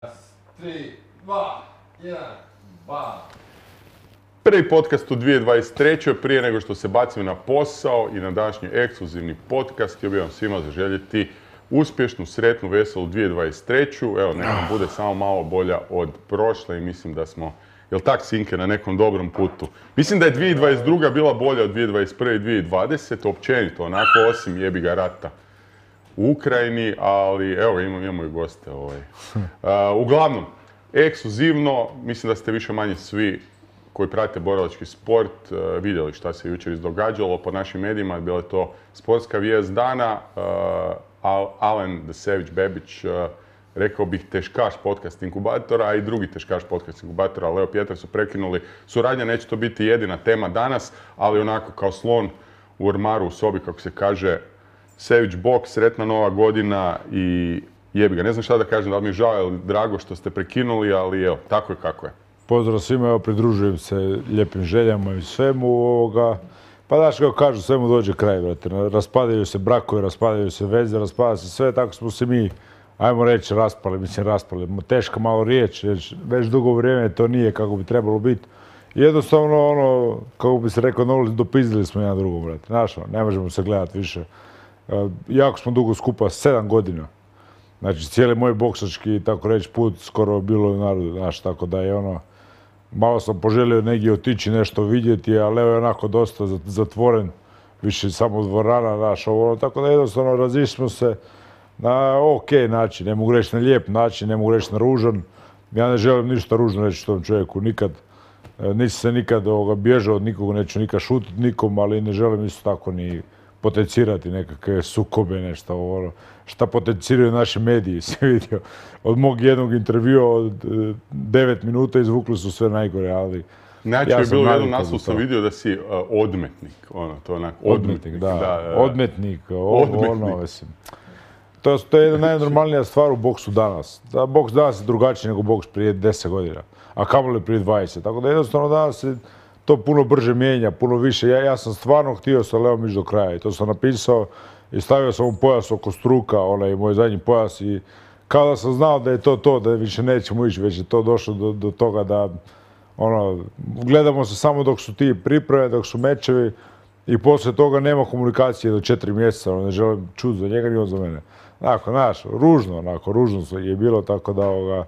3, 2, 1, ba. Prvi podcast u 2023. Prije nego što se bacim na posao i na današnji ekskluzivni podcast, htio bih vam svima zaželjeti uspješnu, sretnu, veselu 2023. Evo, neka nam bude samo malo bolja od prošle i mislim da smo, jel tak Sinke, na nekom dobrom putu. Mislim da je 2022. bila bolja od 2021. i 2020. Općenito, onako, osim jebiga rata u Ukrajini, ali evo, imamo i goste. Uglavnom, ekskluzivno, mislim da ste više manje svi koji prate borilački sport vidjeli šta se jučer izdogađalo po našim medijima. Bila je to sportska vijest dana. Alen The Savage Bebić, rekao bih teškaš podcast inkubatora, a i drugi teškaš podcast inkubatora, Leo Pjetar, su prekinuli suradnja. Neće to biti jedina tema danas, ali onako kao slon u ormaru u sobi, kako se kaže, Savage Box, sretna nova godina i jebi ga. Ne znam šta da kažem, da li mi je žao ili drago što ste prekinuli, ali evo, tako je kako je. Pozdrav svima, evo pridružujem se lijepim željama i svemu ovoga. Pa znaš kako kažu, svemu dođe kraj, brate. Raspadaju se brakovi, raspadaju se veze, raspada se sve, tako smo se mi, ajmo reći, raspali. Teška malo riječ, već dugo vrijeme to nije kako bi trebalo biti. Jednostavno, ono, kako bi se rekao, dopizdili smo jedan drugom, brate. Znaš, ne možemo se gledati više. Jako smo dugo skupa, 7 godina. Znači, cijeli moj boksački, tako reći, put skoro bilo u narodu, znaš, tako da je ono, malo sam poželio negdje otići nešto vidjeti, ali evo je onako dosta zatvoren, više samo dvorana, znaš, ovo, tako da jednostavno razišli smo se na okej način, ne mogu reći na lijep način, ne mogu reći na ružan. Ja ne želim ništa ružno reći tom čovjeku, nikad, nisam se nikad bježao od nikog, neću nikad šutiti nikom, ali ne želim isto tako ni potencirati nekakve sukobe, nešto ovo, šta potenciraju naši mediji, si vidio. Od mog jednog intervjua od 9 minuta izvukli su sve najgore, ali znači, je bilo jednom naslovu sam vidio da si odmetnik, ono, to je onako, odmetnik, da. Odmetnik, ono, mislim. To je jedna najnormalnija stvar u boksu danas. Boks danas je drugačiji nego boks prije 10 godina, a kamoli prije 20. Tako da jednostavno danas se to puno brže mijenja, puno više. Ja sam stvarno htio sa Leom ići do kraja i to sam napisao i stavio sam mu pojas oko struka, onaj moj zadnji pojas, i kao da sam znao da je to, da više nećemo ići, već je to došlo do toga da ono, gledamo se samo dok su ti pripreme, dok su mečevi i poslije toga nema komunikacije do 4 mjeseca, ne želim čuti za njega ni on za mene. Onako, znaš, ružno je bilo, tako da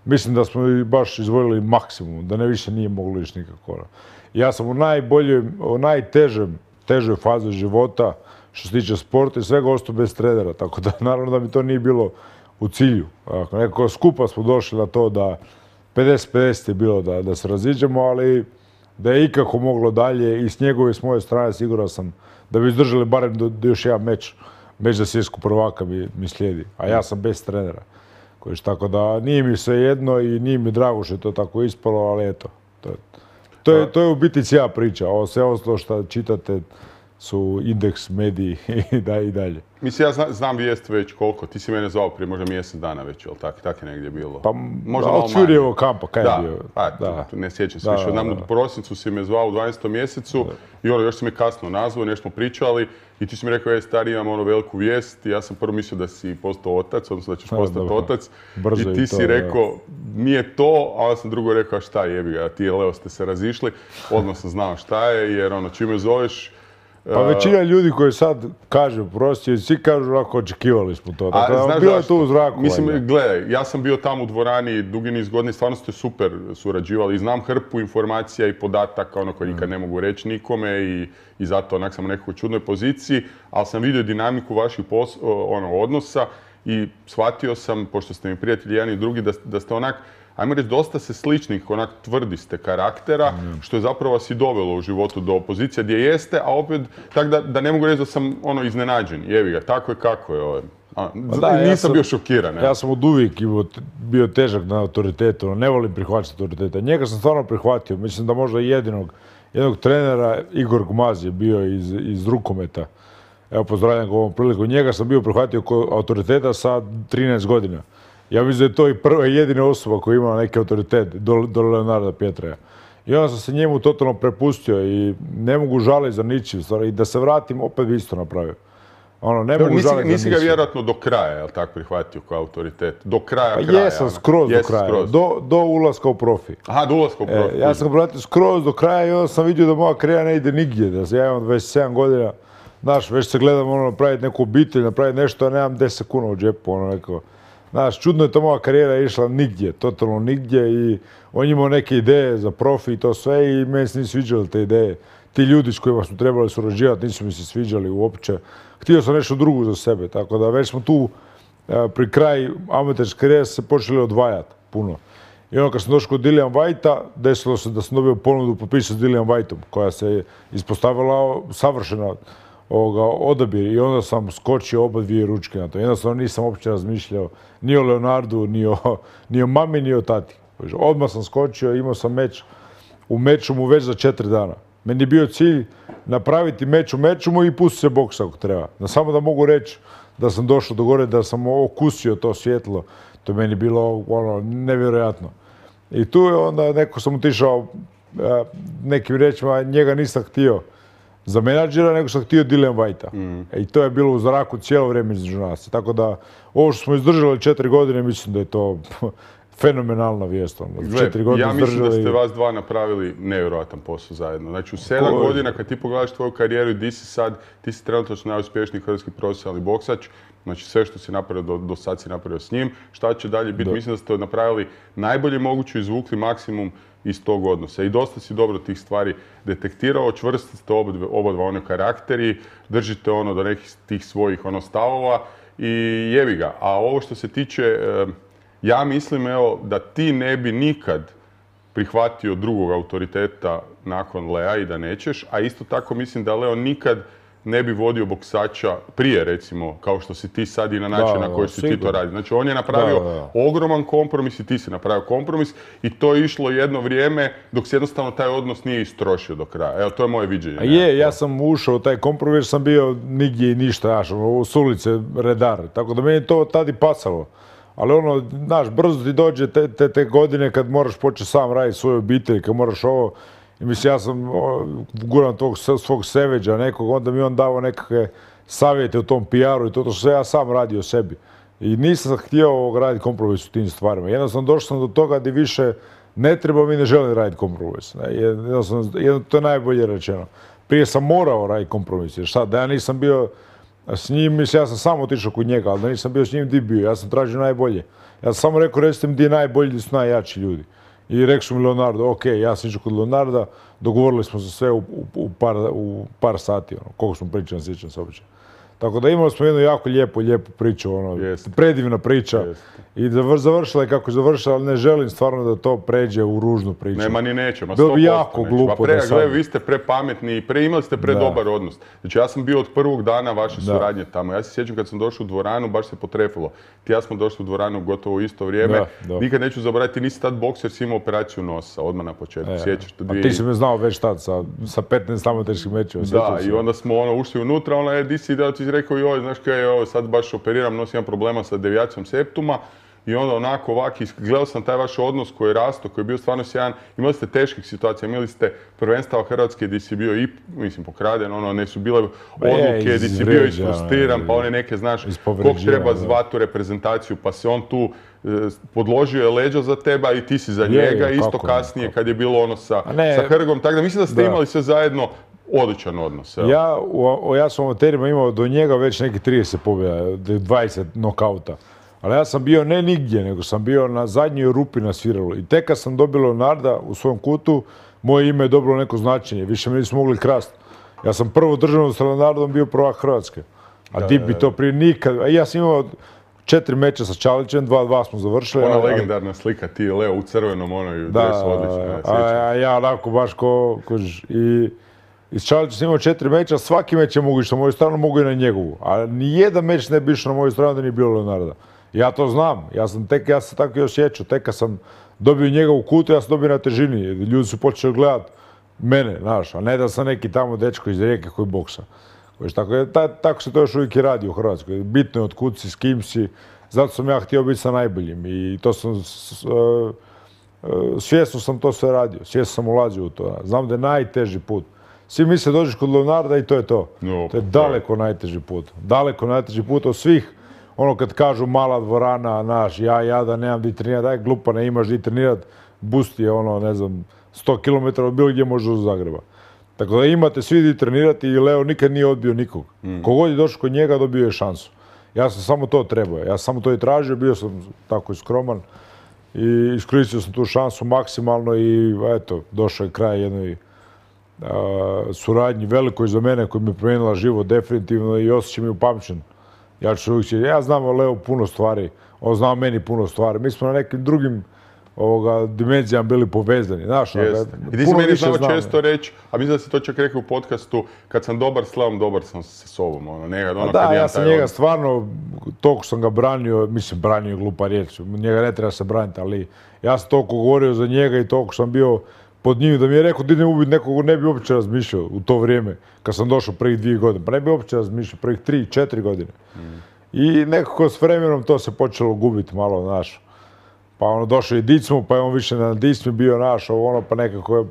mislim da smo baš izvojili maksimum, da ne više nije moglo ići nikako. Ja sam u najtežoj fazi života što se tiče sporta i svega ostao bez trenera, tako da naravno da mi to nije bilo u cilju. Nekako skupa smo došli na to da 50-50 je bilo da se raziđemo, ali da je ikako moglo dalje i s njegove i s moje strane siguran sam da bi izdržali barem do još jedan meč za svjetskog prvaka mi slijedi, a ja sam bez trenera. Tako da nije mi sve jedno i nije mi drago što je to tako ispalo, ali eto, to je u biti cijela priča. Ovo sve ostalo što čitate su Indeks, mediji i dalje. Mislim, ja znam vijest već koliko. Ti si mene zvao prije možda mjesec dana već, jel tak je negdje bilo? Pa od Ćurijevog kampa, kaj je bio? Da, ne sjećam se više. U prosincu si me zvao u 12. mjesecu i ono, još si me kasno nazvao, nešto smo pričali i ti si mi rekao, stari, imam ono veliku vijest. Ja sam prvo mislio da si postao otac, odnosno da ćeš postati otac. I ti si rekao, nije to, a onda sam drugo rekao, šta jebi ga, ti i Leo ste se razišli. Odmah sam znao šta je, jer ono, čim me zoveš, pa većina ljudi koji sad kaže prosti, svi kažu ovako, očekivali smo to. Tako, bilo je to u zraku. Mislim, gledaj, ja sam bio tamo u dvorani dugi niz godina i stvarno ste super surađivali i znam hrpu informacija i podataka, ono koje nikad ne mogu reći nikome i zato onak sam u nekoj čudnoj poziciji, ali sam vidio dinamiku vaših odnosa i shvatio sam, pošto ste mi prijatelji jedan i drugi, da ste onak, ajmo reći, dosta se sličnih, onak tvrdi ste karaktera, što je zapravo vas i dovelo u životu do opozicije gdje jeste, a opet, tako da ne mogu reći da sam iznenađen. Jevi ga, tako je kako je. Nisam bio šokiran. Ja sam od uvijek bio težak na autoritetu, ne volim prihvaćati autoriteta. Njega sam stvarno prihvatio, mislim da možda jednog trenera, Igor Gmaz je bio iz rukometa. Evo, pozdravljam ga ovom priliku. Njega sam bio prihvatio kao autoriteta sa 13 godina. Ja mislim da je to i prva i jedina osoba koja ima neki autoritet do Leonarda Pjetraja. I onda sam se njemu totalno prepustio i ne mogu žaliti za ničim. I da se vratim, opet bi isto napravio. Ono, ne mogu žaliti za Nisi ga misiju. vjerojatno do kraja, jel tako, prihvatio kao autoritet? Do kraja Pa kraja. jesam skroz do kraja, do ulaska u profi. Aha, do ulaska u profi. Ja sam ga pratio skroz do kraja i onda sam vidio da moja karijera ne ide nigdje, da ja imam 27 godina, znaš, već se gledam ono, napraviti neku obitelj, napraviti nešto, a nemam 10 kuna u džepu, ono neko. Znaš, čudno je to moja karijera išla nigdje, totalno nigdje i on imao neke ideje za profi i to sve i meni se nisu sviđale te ideje. Ti ljudi s kojima smo trebali surađivati nisu mi se sviđali uopće. Htio sam nešto drugo za sebe, tako da već smo tu pri kraju amaterske karijere se počeli odvajati puno. I ono kad sam došao kod Dillian Whitea, desilo se da sam dobio ponudu potpisati s Dillian Whiteom, koja se ispostavila savršena odabir i onda sam skočio oba dvije ručke na to. Jednostavno nisam uopće razmišljao ni o Leonardu, ni o mami, ni o tati. Odmah sam skočio, imao sam meč u Mečumu već za 4 dana. Meni je bio cilj napraviti meč u Mečumu i pustiti se boksa ako treba. Samo da mogu reći da sam došao do gore, da sam okusio to svjetlo. To je meni bilo ono, nevjerojatno. I tu je onda neko sam otišao nekim rečima, njega nisam htio za menadžera, nego sam htio Dillian Whitea. I to je bilo u zraku cijelo vrijeme između nas. Tako da ovo što smo izdržali 4 godine, mislim da je to fenomenalna vijest. Ja mislim da ste vas dva napravili nevjerojatan posao zajedno. Znači u 7 godina kad ti pogledaš tvoju karijeru i di si sad, ti si trenutno najuspješniji hrvatski profesionalni boksač. Znači sve što si napravio do sad si napravio s njim. Šta će dalje biti? Mislim da ste napravili najbolje moguće, izvukli maksimum iz tog odnosa. I dosta si dobro tih stvari detektirao, čvrsti ste oba dva one karakteri, držite ono do nekih tih svojih stavova i jebi ga. A ovo što se tiče, ja mislim evo da ti ne bi nikad prihvatio drugog autoriteta nakon Lea i da nećeš, a isto tako mislim da Leo nikad ne bi vodio boksača prije, recimo, kao što si ti sad i na način na koji si ti to radi. Znači, on je napravio ogroman kompromis i ti si napravio kompromis i to je išlo jedno vrijeme dok se jednostavno taj odnos nije istrošio do kraja. Evo, to je moje viđenje. Ja sam ušao u taj kompromis, sam bio nigdje i ništa, s ulice redar. Tako da meni to tad i pasalo. Ali ono, znaš, brzo ti dođe te godine kad moraš početi sam raditi svoju obitelj, kad moraš ovo. I mislim, ja sam guran tog svog seveđa nekog, onda mi on dao nekakve savjete u tom PR-u i to što sam ja sam radio sebi. I nisam htio raditi kompromis u tim stvarima. Jednostavno došao sam do toga gdje više ne trebam i ne želim raditi kompromis. To je najbolje rečeno. Prije sam morao raditi kompromis, jer šta, da ja nisam bio s njim, mislim, ja sam samo otišao kod njega, ali da nisam bio s njim, di bio, ja sam tražio najbolje. Ja sam samo rekao, recite mi di je najbolji, di su najjači ljudi. I rekao su mi Leonardo, ok, ja sam išao kod Leonarda, dogovorili smo se sve u par sati, koliko smo pričali, sjećam se uopće. Tako da imali smo jednu jako lijepu priču, predivna priča. I završila je kako je završila, ali ne želim stvarno da to pređe u ružnu priču. Nema ni nećemo, 100% bilo bi jako glupo da sad. Vi ste prepametni i imali ste predobar odnos. Znači ja sam bio od prvog dana vaše suradnje tamo. Ja se sjećam kad sam došao u dvoranu, baš se potrefilo. Ti ja smo došli u dvoranu gotovo u isto vrijeme. Nikad neću zaboraviti, ti nisi tad bokser, si imao operaciju nosa, odmah na početku. Sjećaš te A ti si me znao već tad sa 15 amaterskih mečeva. Da, i onda smo ušli unutra, di si da ti rekao joj, znaš kaj, sad baš operiram, nosim imam problema sa devijacijom septuma i onda onako ovako, gledao sam taj vaš odnos koji je rastao, koji je bio stvarno sjajan, imali ste teških situacija, imali ste prvenstava Hrvatske gdje si bio i, mislim, pokraden, ne su bile odluke gdje si bio isfrustriran, pa one neke, znaš, kog treba zvati u reprezentaciju, pa se on tu podložio je leđa za teba i ti si za njega, isto kasnije kad je bilo sa Hrgom, tako da mislim da ste imali sve zajedno odličan odnos. Ja sam u amaterima imao do njega već neki 30 pobjeda, 20 nokauta. Ali ja sam bio ne nigdje, nego sam bio na zadnjoj rupi na sviralu. I tek kad sam dobio Leonarda u svom kutu, moje ime je dobilo neko značenje. Više mi nismo mogli krasti. Ja sam prvo državno s Leonardom bio prvak Hrvatske. A ti bi to prije nikad... Ja sam imao 4 meča sa Čalićem, 2-2 smo završili. Ona legendarna slika, ti je Leo u crvenom, dresu odlično. A ja onako baš I s Čalićem sam imao 4 meča, svaki meč je mogu išao na moju stranu, mogu i na njegovu. A nijedan meč ne bi išao na moju stranu da nije bilo Leonarda. Ja to znam, ja sam se tako i osjećao. Tek kad sam dobio njega u kutu, ja sam dobio na težini. Ljudi su počeli gledati mene, znaš, a ne da sam neki tamo dečko iz Rijeke koji boksa. Tako se to još uvijek i radi u Hrvatskoj. Bitno je od kud si, s kim si. Zato sam ja htio biti sa najboljim. I to sam... Svjesno sam to sve radio. Svjesno sam ulazio u to. Znam da je najteži put. Svi misle dođeš kod Leonarda i to je to. No, To je daleko najteži put. Daleko najteži put od svih. Ono kad kažu mala dvorana, naš, ja da nemam di trenirati, daj glupa, ne imaš di trenirati, boost je ono, ne znam, 100 km od bilo gdje možeš do Zagreba. Tako da imate svi di trenirati i Leo nikad nije odbio nikog. Kogod je došao kod njega dobio je šansu. Ja sam samo to trebao, ja sam samo to i tražio, bio sam tako i skroman i iskoristio sam tu šansu maksimalno i eto, došao je kraj jednoj suradnji velikoj za mene koja mi je promijenila život definitivno i osjećam je upamćen. Ja znam o Leo puno stvari, on zna o meni puno stvari. Mi smo na nekim drugim dimenzijama bili povezani. Znaš, i ti si meni znao često reći, a mislim da si to čak rekao u podcastu, kad sam dobar slavom, dobar sam sa sobom. Ja sam njega stvarno, toliko sam ga branio, mislim branio je glupa riječ, njega ne treba se braniti, ali ja sam toliko govorio za njega i toliko sam bio pod njim da mi je rekao da idem ubiti nekog, ne bi uopće razmišljao u to vrijeme, kad sam došao prvih 2 godine, pa ne bi uopće razmišljao prvih 3-4 godine. I nekako s vremenom to se počelo gubiti malo, znaš. Pa ono, došao je Dicmo, pa je on više na Dicmi bio naš, pa nekako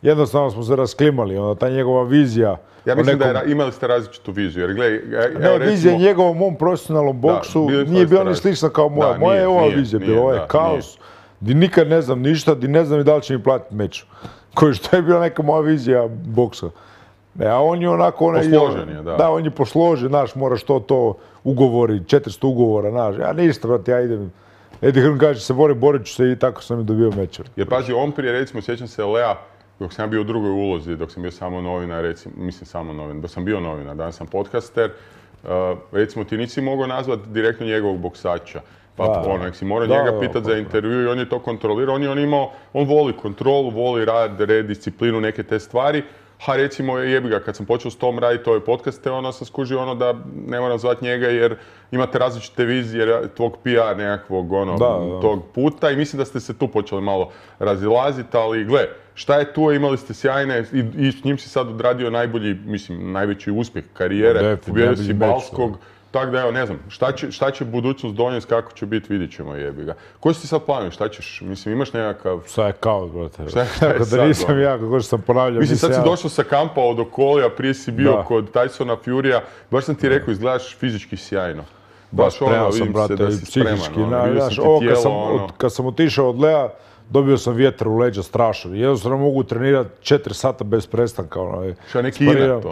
jednostavno smo se rasklimali, ta njegova vizija. Ja mislim da imali ste različitu viziju, jer gledaj, vizija njegovom mom profesionalnom boksu nije bila ni slična kao moja. Moja je ova vizija bila, ovo je kaos, di nikad ne znam ništa, di ne znam ni da li će mi platiti meč. Koji što je bila neka moja vizija boksa. A on je onako... Posložen je, da. Da, on je posložen, znaš, moraš to ugovori, 400 ugovora, znaš. Ja ništa, brate, ja idem... Eddie Hearn kaže se borit ću se i tako sam i dobio mečer. Jer pazi, on prije, recimo, sjećam se Lea, dok sam bio u drugoj ulozi, dok sam bio samo novinar, recimo, mislim samo novinar, dok sam bio novinar, danas sam podcaster, recimo ti nisi mogao nazvati direktno njegovog boksača. Pa nek si morao njega pitati za intervju i on je to kontrolirao, on voli kontrolu, voli rad, red, disciplinu, neke te stvari. Ha, recimo, jebi ga, kad sam počeo s tom raditi ove podcaste, sam skužio da ne moram zvati njega jer imate različite vizije tvog PR nekakvog tog puta i mislim da ste se tu počeli malo razilaziti, ali gle, šta je tu, imali ste sjajne i s njim si sad odradio najveći uspjeh karijere, ubijedio si Balskog. Tako da evo, ne znam, šta će budućnost donijeti, kako će biti, vidit ćemo, jebi ga. Koji si ti sad planovi, šta ćeš, imаш nekakav... Šta je kaos, brate. Tako da nisam ja, kako što sam ponavljao. Mislim, sad si došao sa kampa od Okolija, prije si bio kod Tysona Furya, baš sam ti rekao, izgledaš fizički sjajno. Baš spreman sam, brate, i psihički. Kad sam otišao od Lea, dobio sam vjetar u leđa strašan. Jednostavno mogu trenirati 4 sata bez prestanka. Šta neki inat,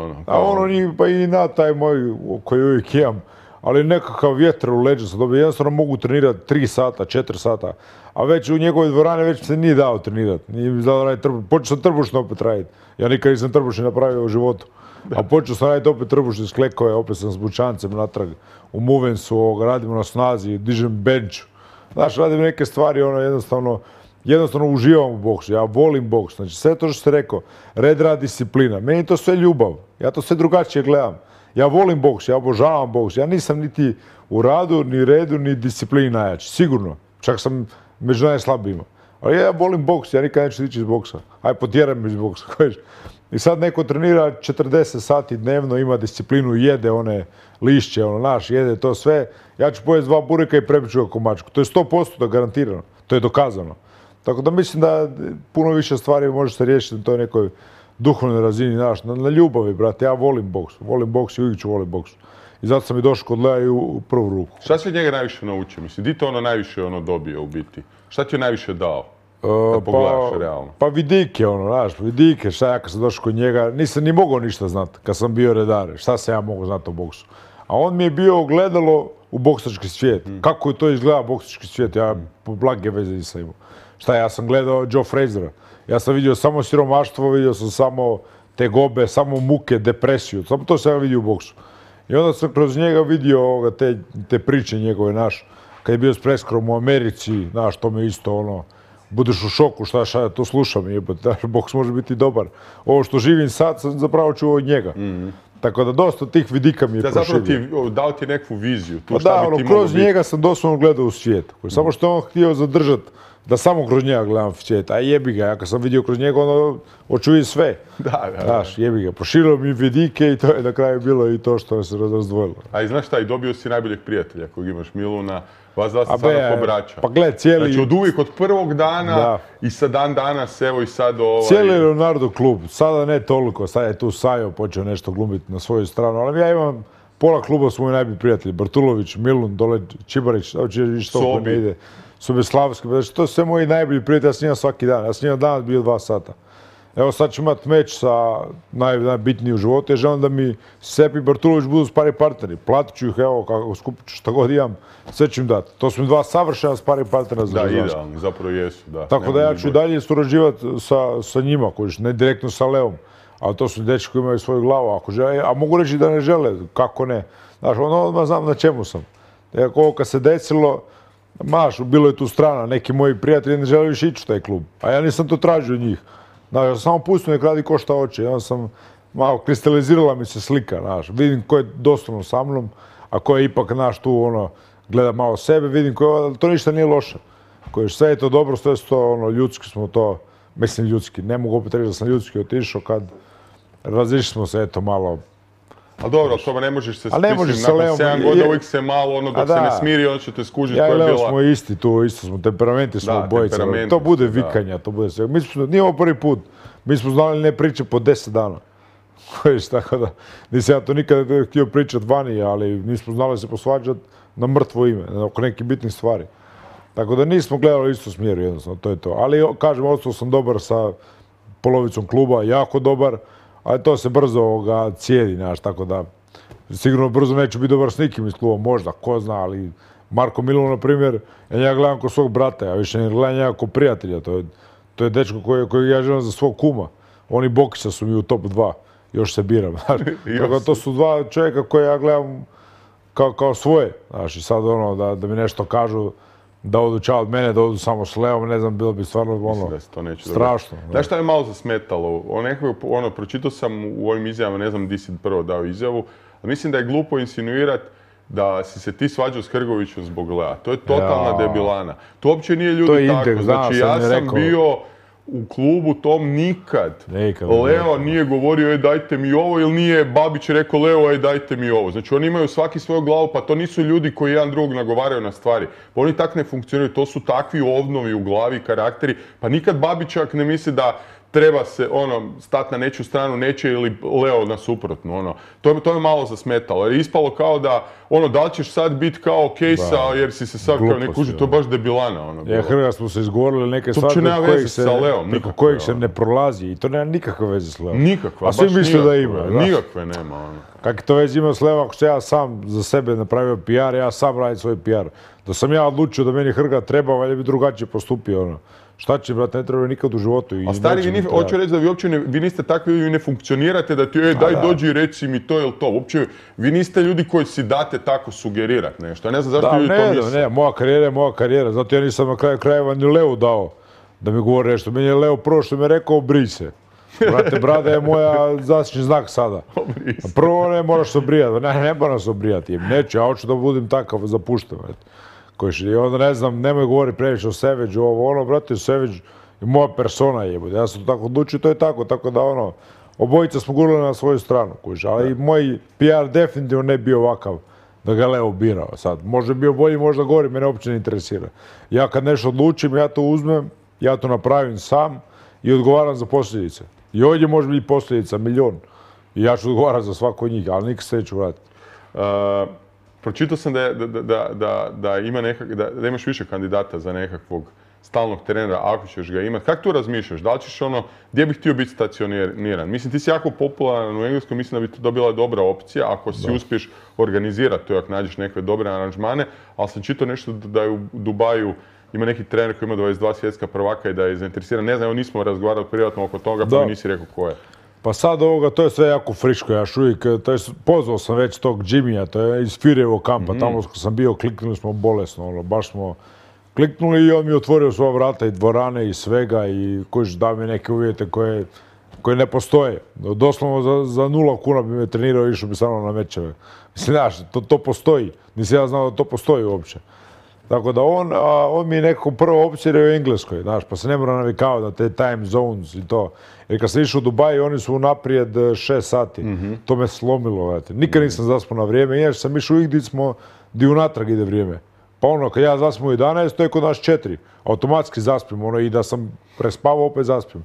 pa i na taj moj koji uvijek imam. Ali nekakav vjetar u leđa sam dobio. Jednostavno mogu trenirati 3 sata, 4 sata. A već u njegovoj dvorani već se nije dao trenirati. Nije mi dao raditi trbušno. Počeo sam trbušno opet raditi. Ja nikad nisam trbušni napravio u životu. A počeo sam raditi opet trbušni s klekove, opet sam s bučancem natrag. U movensu, radimo na snazi, dižem bench. Znaš, radim neke stvari, jednostavno uživam u boksu, ja volim boks. Znači sve to što ste rekao, red, rad, disciplina, meni je to sve ljubav, ja to sve drugačije gledam. Ja volim boks, ja obožavam boks, ja nisam niti u radu, ni redu, ni disciplini najjači, sigurno. Čak sam među najslabijima. Ali ja volim boks, ja nikad neću ići iz boksa. Aj, potjeram me iz boksa, kojiš. I sad neko trenira 40 sati dnevno, ima disciplinu, jede one lišće, jede to sve. Ja ću pojesti 2 bureka i prebit ću ga ko mačku. To je 100% da garantirano, to je dokazano. Tako da mislim da puno više stvari može se riješiti na toj nekoj duhovnoj razini, na ljubavi, brate. Ja volim boks i uvijek ću volim boks. I zato sam i došao kod Lea i u prvu ruku. Šta si od njega najviše naučio? Mislim, di to najviše dobio u biti? Šta ti je najviše dao? Da pogledaš realno. Pa vidike, vidike, šta ja kad sam došao kod njega, nisam ni mogao ništa znati kad sam bio redar, šta sam ja mogao znati o boksu. A on mi je bio ogledalo u boksački svijet. Kako je to izgleda boksački svijet, ja blage veze nisam imao. Šta, ja sam gledao Joe Frazera, ja sam vidio samo siromaštvo, vidio sam samo tegobe, samo muke, depresiju, samo to sam ja vidio u boksu. I onda sam kroz njega vidio te priče njegove, kad je bio s Preskrom u Americi, to me isto budeš u šoku, šta ja to slušam, boks može biti dobar. Ovo što živim sad sam zapravo čuo od njega. Tako da dosta tih vidika mi je proširio. Zapravo dao ti nekakvu viziju. Kroz njega sam doslovno gledao u svijet. Samo što je on htio zadržati da samo kroz njega gledam svijet, a jebi ga, ja kad sam vidio kroz njega, ono, hoću vidjeti sve. Da. Znaš, jebi ga, proširio mi vidike i to je na kraju bilo i to što se razdvojilo. A i znaš šta, i dobio si najboljeg prijatelja kojeg imaš, Miluna, vas dva se stvarno pobraća. Pa gled, cijeli... Znači od uvijek, od prvog dana i sa dan danas, evo i sad Cijeli Leonardo klub, sada ne toliko, sad je tu Sajo počeo nešto glumiti na svoju stranu, ali ja imam pola kluba su moji najbolji prijatelji, Bartulović, Milun, dole Čibarić, što ne ide, Sobeslavski, znači to su sve moji najbolji prijatelji, ja s njima svaki dan, ja s njima danas bio 2 sata. Evo sad ću imati meč sa najbitniji u životu, jer želim da mi Sepi i Bartulović budu spari partneri. Platit ću ih, evo, kako skupit ću šta god imam, sve ću im dati. To su mi 2 savršena spari partnera za Da, idealni, zapravo jesu, da. Tako da ja ću dalje surađivati sa njima, ne direktno sa Leom. Ali to su dečki koji imaju svoju glavu, ako žele, a mogu reći da ne žele, kako ne. Znaš, odmah znam na čemu sam. Ako ovo kad se desilo, bilo je tu strana, neki moji prijatelji ne žele više ići u taj klub, a ja nisam to tražio od njih. Znaš, ja sam samo pustio nek radi ko šta hoće, ja sam malo kristalizirala mi se slika, znaš, vidim ko je doslovno sa mnom, a ko je ipak, znaš, tu, ono, gleda malo sebe, vidim ko je, to ništa nije loše. Sve je to dobro, sve je to, ono, ljudski smo to, mislim ljudski, ne mogu opet reći da sam ljudski otišao kad razišli smo se, eto, malo. Ali dobro, to ne možeš se spisati, nakon 7 godina uvijek se malo, ono, dok se ne smiri, onda će te skužiti koja je bila... Ja i Leo smo isti tu, isto smo, temperamenti smo obojice, to bude vikanja, to bude sve. Nije ovo prvi put, mi smo znali ne priče po 10 dana. Tako da, nisam ja to nikada htio pričati vani, ali nismo znali se posvađati na mrtvo ime, oko nekih bitnih stvari. Tako da nismo gledali isto smjeru, jednostavno, to je to. Ali, kažem, ostao sam dobar sa polovicom kluba, jako dobar, ali to se brzo cijedi, znaš, tako da sigurno brzo neću biti dobar s nikim iz kluba, možda, ko zna, ali Marko Milun, na primjer, ja njega gledam kao svog brata, ja više ne gledam njega kao prijatelja, to je dečko kojeg ja želim za svog kuma. Oni Bokića su mi u top 2, još se biram, znaš. Tako to su 2 čovjeka koje ja gledam kao svoje, znaš, i sad ono, da mi nešto kažu, da odu čao od mene, da odu samo s Leom, ne znam, bilo bi stvarno strašno. Znaš šta je malo zasmetalo? Pročitao sam u ovim izjavama, ne znam di si prvo dao izjavu, ali mislim da je glupo insinuirati da si se ti svađao s Hrgovićem zbog Lea. To je totalna debilana. To uopće nije ljudi tako. Znači, ja sam bio u klubu tom nikad. Leo nije govorio, dajte mi ovo, ili nije Babić rekao Leo, dajte mi ovo. Znači, oni imaju svaki svoju glavu, pa to nisu ljudi koji jedan drugog nagovaraju na stvari. Pa oni tak ne funkcioniraju, to su takvi ovnovi u glavi, karakteri. Pa nikad Babićak ne misli da treba se, stati na nečiju stranu, neće ili Leo na suprotnu, To je malo zasmetalo, jer je ispalo kao da, da li ćeš sad biti kao Kejsa, jer si se sad kao ne kuži, to je baš debilana, Hrga smo se izgovorili neke stvari kojeg se ne prolazi i to nema nikakve veze s Leom. Nikakve, baš nikakve. A svi misle da ima. Nikakve nema, Kakve to veze ima s Leom, ako sam ja sam za sebe napravio PR, ja sam radim svoj PR. Da sam ja odlučio da meni Hrga treba, valjda bi drugačije postupio, Šta će, brate, ne treba nikad u životu. A stari, hoću reći da vi niste takvi, vi ne funkcionirate da ti, daj dođi i reci mi to ili to. Uopće, vi niste ljudi koji si date tako sugerirati nešto. Ja ne znam zašto ljudi to misle. Ne, moja karijera je moja karijera. Zato ja nisam na kraju krajeva ni Leu dao da mi govori nešto. Meni je Leo prvo što mi je rekao, brij se. Brate, brada je moja zaštićni znak sada. Prvo ne moraš se obrijati. Ne moram se obrijati. Neću, ja hoću da budem takav zapušten. I onda ne znam, nemoj govoriti previše o Seveđu, brate, Seveđ je moja persona jebote. Ja sam to tako odlučio, to je tako, tako da obojica smo gurali na svoju stranu, ali moj PR definitivno ne bio ovakav da ga Leo birao sad. Možda bio bolji, možda gori, mene uopće ne interesira. Ja kad nešto odlučim, ja to uzmem, ja to napravim sam i odgovaram za posljedice. I ovdje može biti posljedica 1.000.000 i ja ću odgovarati za svako od njih, ali nikad se neću vratiti. Pročitao sam da imaš više kandidata za nekakvog stalnog trenera, ako ćeš ga imati. Kako tu razmišljaš? Da li ćeš gdje bih htio biti stacioniran? Mislim, ti si jako popularan u Engleskoj, mislim da bi to bila dobra opcija ako si uspiješ organizirati to, ako nađeš neke dobre aranžmane, ali sam čitao nešto da je u Dubaju ima neki trener koji ima 22 svjetska prvaka i da je zainteresiran. Ne znam, nismo razgovarali privatno oko toga, pa mi nisi rekao ko je. Pa sad to je sve jako friško, ja uvijek, pozvao sam već tog Jimmya, to je iz Firevog kampa, tamo sam bio, kliknuli smo bolesno, baš smo kliknuli i on mi otvorio svoja vrata i dvorane i svega i koji dao mi neke uvjete koje ne postoje. Doslovno za 0 kuna bi me trenirao i išao bi samo na mečeve. Mislim, znaš, to postoji, nisam ja znao da to postoji uopće. Tako da on mi je nekako prva opcija u Engleskoj, znaš, pa se ne mora navikavati na te time zones i to. Jer kad sam išao u Dubaj, oni su unaprijed 6 sati. To me slomilo, vete. Nikad nisam zaspao na vrijeme, inače sam išao gdje smo, gdje unatrag ide vrijeme. Pa ono, kad ja zaspim u 11, to je kod nas 4. Automatski zaspim, ono, i da sam prespavao, opet zaspim.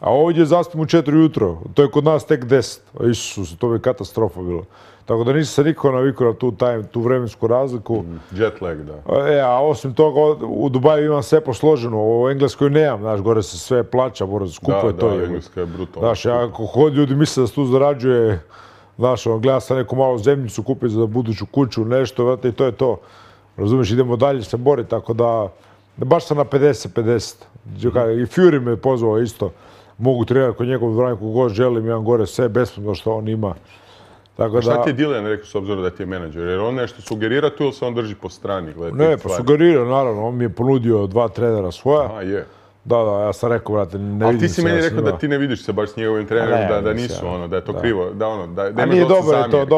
A ovdje zaspim u 4 ujutro, to je kod nas tek 10. Isus, to bi katastrofa bilo. Tako da nisam se nikako navikao na tu vremensku razliku. Jet lag, da. A osim toga, u Dubaju imam sve posloženo, u Engleskoj nemam, znaš, gore se sve plaća, skupo je to. Da, Engleska je brutalno. Znaš, ako hod ljudi misle da se tu zarađuje, znaš, gleda sam neku malu zemljicu kupiti za buduću kuću, nešto, vrati, i to je to. Razumiješ, idemo dalje se boriti, tako da, baš sam na 50-50. I Fury me pozvao isto. Mogu trenirati kod njegov dvorani kako god želim, imam gore sve besplatno što on ima. Tako da... Šta ti je Dillian rekao s obzirom da ti je menadžer? Jer on nešto sugerira tu ili se on drži po strani? Ne, pa sugerira, naravno. On mi je ponudio 2 trenera svoja. Aha, je. Da, ja sam rekao, brate, ne vidim se. Ali ti si meni rekao da ti ne vidiš se baš s njegovim trenerom, da nisu ono, da je to krivo, da nema dosta zamjerki.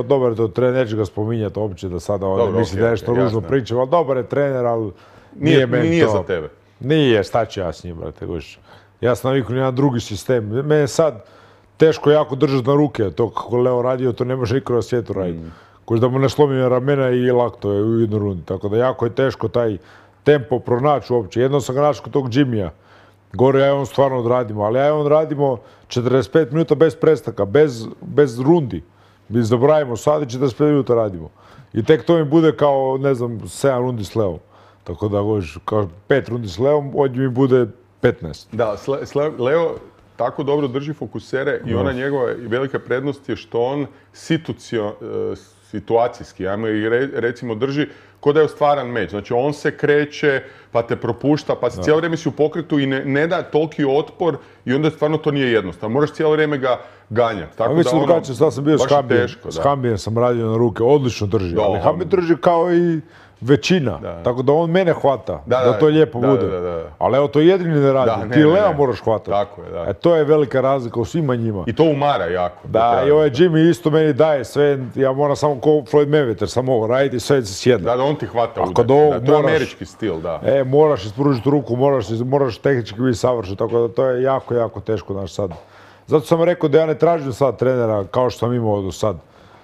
Dobar je to trener, neću ga spominjati uopće da sada ovdje misli da je nešto ružno pričam, ali dobar je trener, ali nije meni to. Nije za tebe. Nije, šta ću ja s njim, brate, guš. Ja sam navikao na jedan drugi sistem. Mene sad teško jako držati na ruke, to kako Leo radio, to ne može niko na svijetu raditi. Koji da mu ne slomim ramena i lakto je u jednoj rundi, tako da jako je teško taj tempo pronaći uopće. Jedno sam ga našao kod tog Jimmya. Gore ja i on stvarno odradimo, ali ja i on radimo 45 minuta bez prestanka, bez rundi. Mi zaboravimo sad i 45 minuta radimo. I tek to mi bude kao, ne znam, 7 rundi s Leom. Tako da, kao 5 rundi s Leom, ovdje mi bude 15. Da, Leo tako dobro drži fokusere i ona njegova velika prednost je što on situacijski, ajmo i recimo drži ko da je ostvaran meč. Znači on se kreće, pa te propušta, pa cijelo vrijeme si u pokretu i ne da toliki otpor i onda stvarno to nije jednostavno. Moraš cijelo vrijeme ga ganjati. Tako mislim drugačije, sad sam bio s Hambijem, sam radio na ruke, odlično drži. Ali Hambi drži kao i većina, tako da on mene hvata, da to lijepo bude. Ali evo, to jedini ne radi, ti Leo moraš hvatati. Tako je, da. To je velika razlika u svima njima. I to umara jako. Da, i ovaj Jimmy isto meni daje sve, ja moram samo ko Floyd Mayweather, samo ovo raditi i sve se sjedne. Da, on ti hvata udar. To je američki stil, da. Moraš ispružiti ruku, moraš tehnički biti savršen, tako da to je jako, jako teško, znaš, sad. Zato sam rekao da ja ne tražim sad trenera kao što sam imao do sad.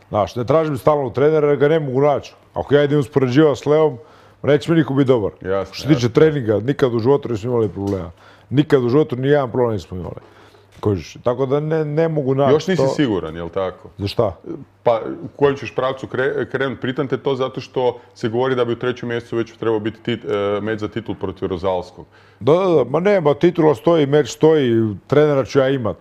Znaš, ne tražim stalnog trenera jer ga ne mogu naći. Ako ja idem uspoređivati s Leom, neće mi niko biti dobar. Što se tiče treninga, nikad u životu nismo imali problema. Nikad u životu ni jedan problem nismo imali. Tako da ne mogu naći to. Još nisi siguran, jel tako? Za šta? Pa u kojem ćeš pravcu krenuti? Pritam te to zato što se govori da bi u 3. mjesecu već trebao biti meč za titul protiv Rozalskog. Da, ma nema, titula stoji, meč stoji, trenera ću ja imat.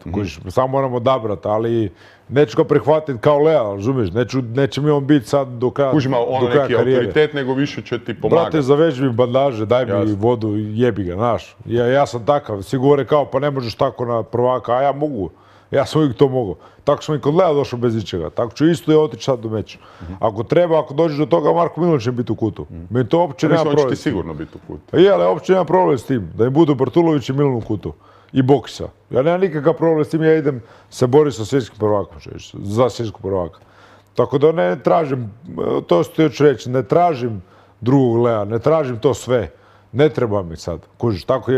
Samo moramo odabrati, ali neću ga prihvatiti kao Lea, razumiješ? Neće mi on biti sad do kraja karijere. Kuži ono neki autoritet, nego više će ti pomagati. Brate, zaveži mi bandaže, daj mi vodu, jebi ga, znaš. Ja sam takav, svi govore kao pa ne možeš tako na prvaka, a ja mogu. Ja sam uvijek to mogao. Tako sam i kod Lea došao bez ničega. Tako ću isto i otići sad do meča. Ako treba, ako dođeš do toga, Marko Milović će biti u kutu. Meni to uopće nema problem. Mislim, on će ti sigurno biti u kutu. Je, ali uopće nema problem s tim. Da im budu Bartulović i Milan u kutu. I boksa. Ja nemam nikakav problem s tim, ja idem se boriti sa svjetskim prvakom, za svjetskog prvaka. Tako da ne tražim, to što ću reći, ne tražim drugog Lea, ne tražim to sve. Ne treba mi sad. Kužiš, tako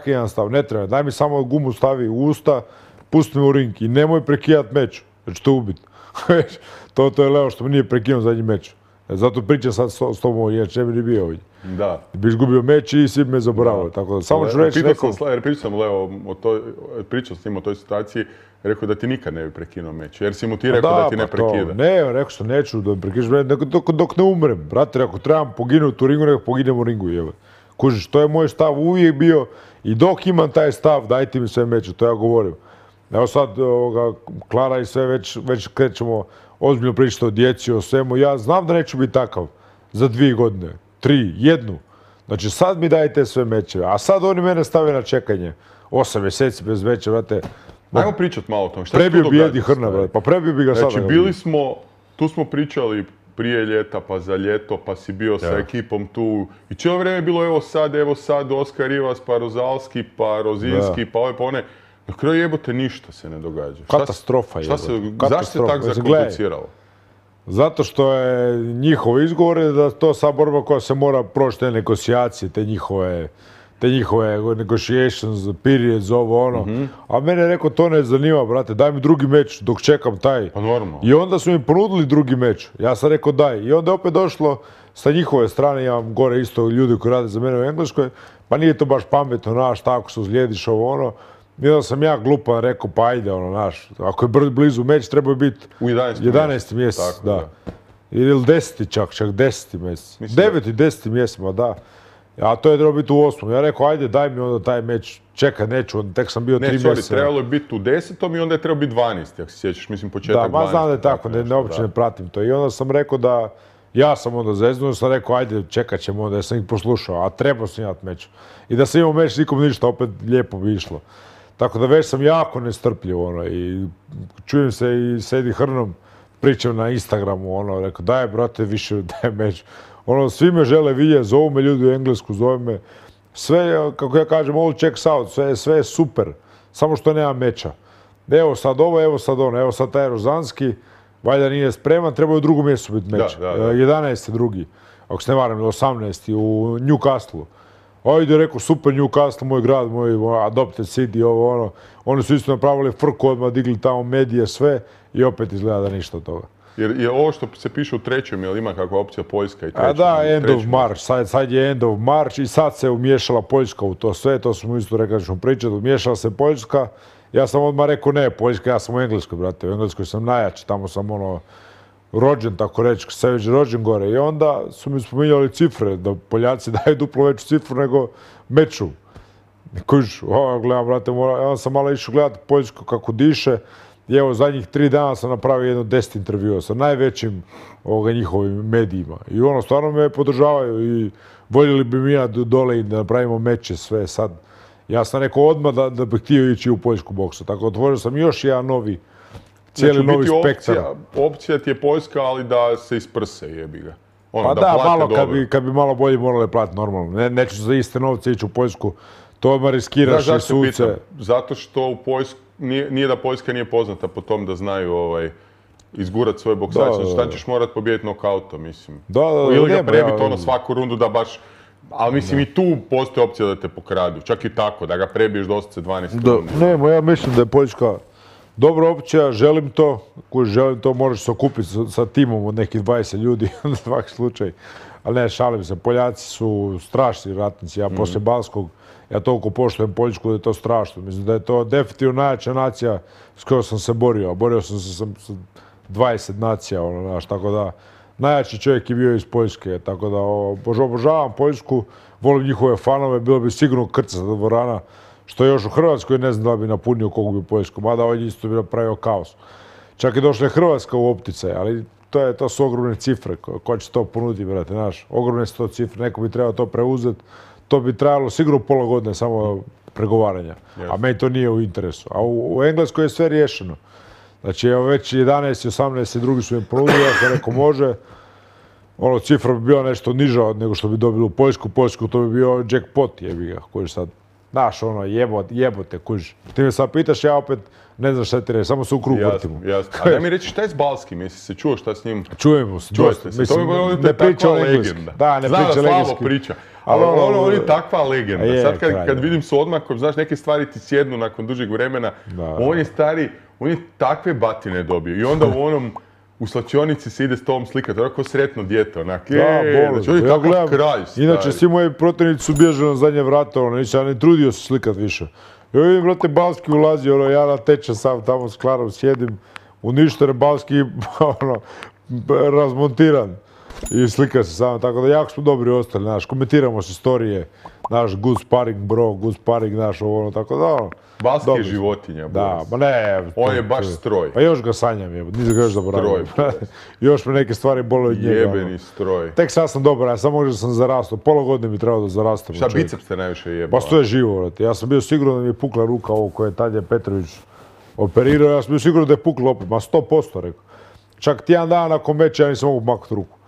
jedan stav, ne treba. Daj mi samo gumu stavi u usta, pusti me u ring i nemoj prekidati meč, jer ću te ubiti. To je Leo što mi nije prekinuo zadnji meč. Zato pričam sad s tobom, jer ne bi ni bio ovdje. Da. Biš gubio meč i svi me zaboravili. Tako da samo ću reći nekom... Pričao s njim o toj situaciji, rekao da ti nikad ne bi prekinuo meč. Jer si mu ti rekao da ti ne prekida. Ne, rekao sam neću da me prekidaš, dok ne umrem. Brate, ako trebam poginuti u ringu, nego poginem u ringu. Kužiš, to je moj stav uvijek bio i dok imam taj stav, dajte mi sve meče, to ja govorim. Evo sad, Klara i sve već krećemo ozbiljno pričati o djeci, o svemu. Ja znam da neću biti takav za 2 godine, 3, 1. Znači sad mi dajte sve mečeve, a sad oni mene stave na čekanje. 8 mjeseci bez meča, brate. Ajmo pričati malo o tom. Prebio bi Edi Hrna, brate, pa prebio bi ga sada. Znači tu smo pričali prije ljeta, pa za ljeto, pa si bio sa ekipom tu. I cijelo vrijeme je bilo evo sad, Oskar Rivas, pa Rozalski, pa Rozinski, pa ove, pa one. Na kraju jebote ništa se ne događa. Katastrofa je. Zašto se tako zakompliciralo? Zato što je njihov izgovor je da to sad borba koja se mora proći te negocijacije, te njihove negotiations, periods, ovo ono. A mene je rekao, to ne zanima, brate, daj mi drugi meč dok čekam taj. Pa normalno. I onda su mi ponudili drugi meč. Ja sam rekao daj. I onda je opet došlo sa njihove strane, imam gore isto ljudi koji rade za mene u Engleskoj, pa nije to baš pametno, znaš, tako se uzlijediš ovo ono. I onda sam ja glupan rekao, pa ajde, ono, znaš, ako je blizu meč, treba biti u 11. mjesec, da. Ili 10. čak 10. mjesec. 9. i 10. mjesec, ma da. A to je trebalo biti u 8. Ja rekao, ajde, daj mi onda taj meč, čekaj, neću, tek sam bio 3 mjeseca. Trebalo je biti u 10. i onda je trebalo biti 12. ako se sjećaš, mislim početak 12. Da, znam da je tako, uopće ne pratim to. I onda sam rekao da, ja sam onda zeznuo, sam rekao, ajde, čekat ćemo onda, ja sam ih poslušao, a trebao sam imati meč. I da sam imao meč, nikom ništa, opet lijepo bi išlo. Tako da već sam jako nestrpljiv, ono, i čujem se i s Eddie Hearnom, pričam na Instagramu, ono, rekao, daj, brate, više, daj meč. Ono, svi me žele vidjeti, zovu me ljudi u Englesku, zovu me. Sve, kako ja kažem, all checks out, sve je super, samo što nema meča. Evo sad ovo, evo sad ono, evo sad taj Rozanski, valjda nije spreman, treba u drugom mjestu biti meč. 11. drugi, ako se ne varam, 18. u Newcastle. Ajde, rekao, super Newcastle, moj grad, moj adopted city, ovo ono. Oni su isto napravili frku, odmah digli tamo medije, sve i opet izgleda da ništa od toga. Jer je ovo što se piše u 3. jel ima kakva opcija Poljska i 3. A da, end of March, sad je end of March i sad se umiješala Poljska u to sve, to smo isto rekli da ćemo pričati, umiješala se Poljska. Ja sam odmah rekao ne, Poljska, ja sam u Engleskoj, brate, u Engleskoj sam najjači, tamo sam ono rođen, tako reći, sve već rođen gore. I onda su mi spominjali cifre, da Poljaci daju duplo veću cifru nego meču. Kuž, gledam, brate, ja sam malo išao gledati Poljsku kako diše. I evo, zadnjih 3 dana sam napravio jedno 10 intervjua sa najvećim njihovim medijima. I ono, stvarno me podržavaju i voljeli bi mi ja dole i da napravimo meče sve sad. Ja sam rekao odmah da bih htio ići u poljsku boksu. Tako otvorio sam još jedan novi, cijeli novi spektar. Opcija ti je Poljska, ali da se isprse, jebi ga. Pa da, malo kad bi malo bolje morali platiti normalno. Neću za iste novce ići u Poljsku. To odmah riskiraš i suce. Zato što u Poljsku, nije da Poljska nije poznata po tom da znaju izgurat svoje boksače. Znači ćeš morat pobijediti nokautom, mislim. Ili ga prebiti ono svaku rundu da baš... Ali mislim i tu postoji opcija da te pokradu. Čak i tako, da ga prebiješ doslovce 12 rundi. Ne, ja mislim da je Poljska dobra opcija, želim to. Želim to, možeš se okupiti sa timom od nekih 20 ljudi na svaki slučaj. Ali ne, šalim se, Poljaci su strašni ratnici. Ja poslije Balskog, ja toliko poštujem Poljsku da je to strašno. Mislim da je to definitivno najjača nacija s kojom sam se borio. Borio sam se sa 20 nacija, tako da najjači čovjek je bio iz Poljske. Tako da obožavam Poljsku, volim njihove fanove, bilo bi sigurno krcata dvorana, što još u Hrvatskoj ne znam da bi napunio kogu bi Poljsku, mada ovdje isto bi napravio kaos. Čak i došla je Hrvatska u opticaj, ali to su ogromne cifre. Ko će to ponuditi, brate, znaš? Ogromne su to cifre, neko bi trebao to preuzeti. To bi trajalo sigurno pola godine samo pregovaranja, a meni to nije u interesu. A u Engleskoj je sve riješeno. Znači, evo već 11, 18 drugi su im ponudili, ja sam rekao može. Cifra bi bila nešto niža nego što bi dobili u Poljsku. Poljsku to bi bio jackpot, jebi ga, koji sad, znaš, jebote, kuži. Ti me sad pitaš, ja opet ne znam šta ti reći, samo se u krug vrtimo. Jasno. A da mi reći šta je s Balskim, jesi se čuo šta s njim? Čujemo se, dosta. Mislim, ne priča legenda. Da, ne priča legenda. Priča. Ali on je takva legenda. Sad kad vidim s odmakom, znaš, neke stvari ti sjednu nakon dužeg vremena, on je takve batine dobio. I onda u slačionici se ide s tobom slikati, onako sretno dijete, onak, znači on je takav kralj. Inače, svi moji protivnici su bježali na zadnje vrata, ja ne trudio se slikat više. Ja vidim, brate, Balski ulazi, ja na teče sam tamo s Klarom sjedim, uništen Balski, razmontiran. I slika se samo, tako da jako smo dobri ostali, znaš, komentiramo se storije, naš good sparring bro, good sparring, naš tako da, Balski je životinja, da, ma ne. On je baš stroj. Pa još ga sanjam, nisam ga još zaboravio. Još me neke stvari bole od njega. Jebeni stroj. Tek sad sam dobar, ja sam možda sam zarastao, pola godine mi trebao da zarastam. Šta biceps te najviše jebao? Pa to je živo, vrati. Ja sam bio siguran da mi je pukla ruka ovo koje je Tadje Petrović operirao, ja sam bio siguran da je pukla opet, ma 100% rekao. Čak tjedan dana nakon meča ja nisam mogu maknuti ruku.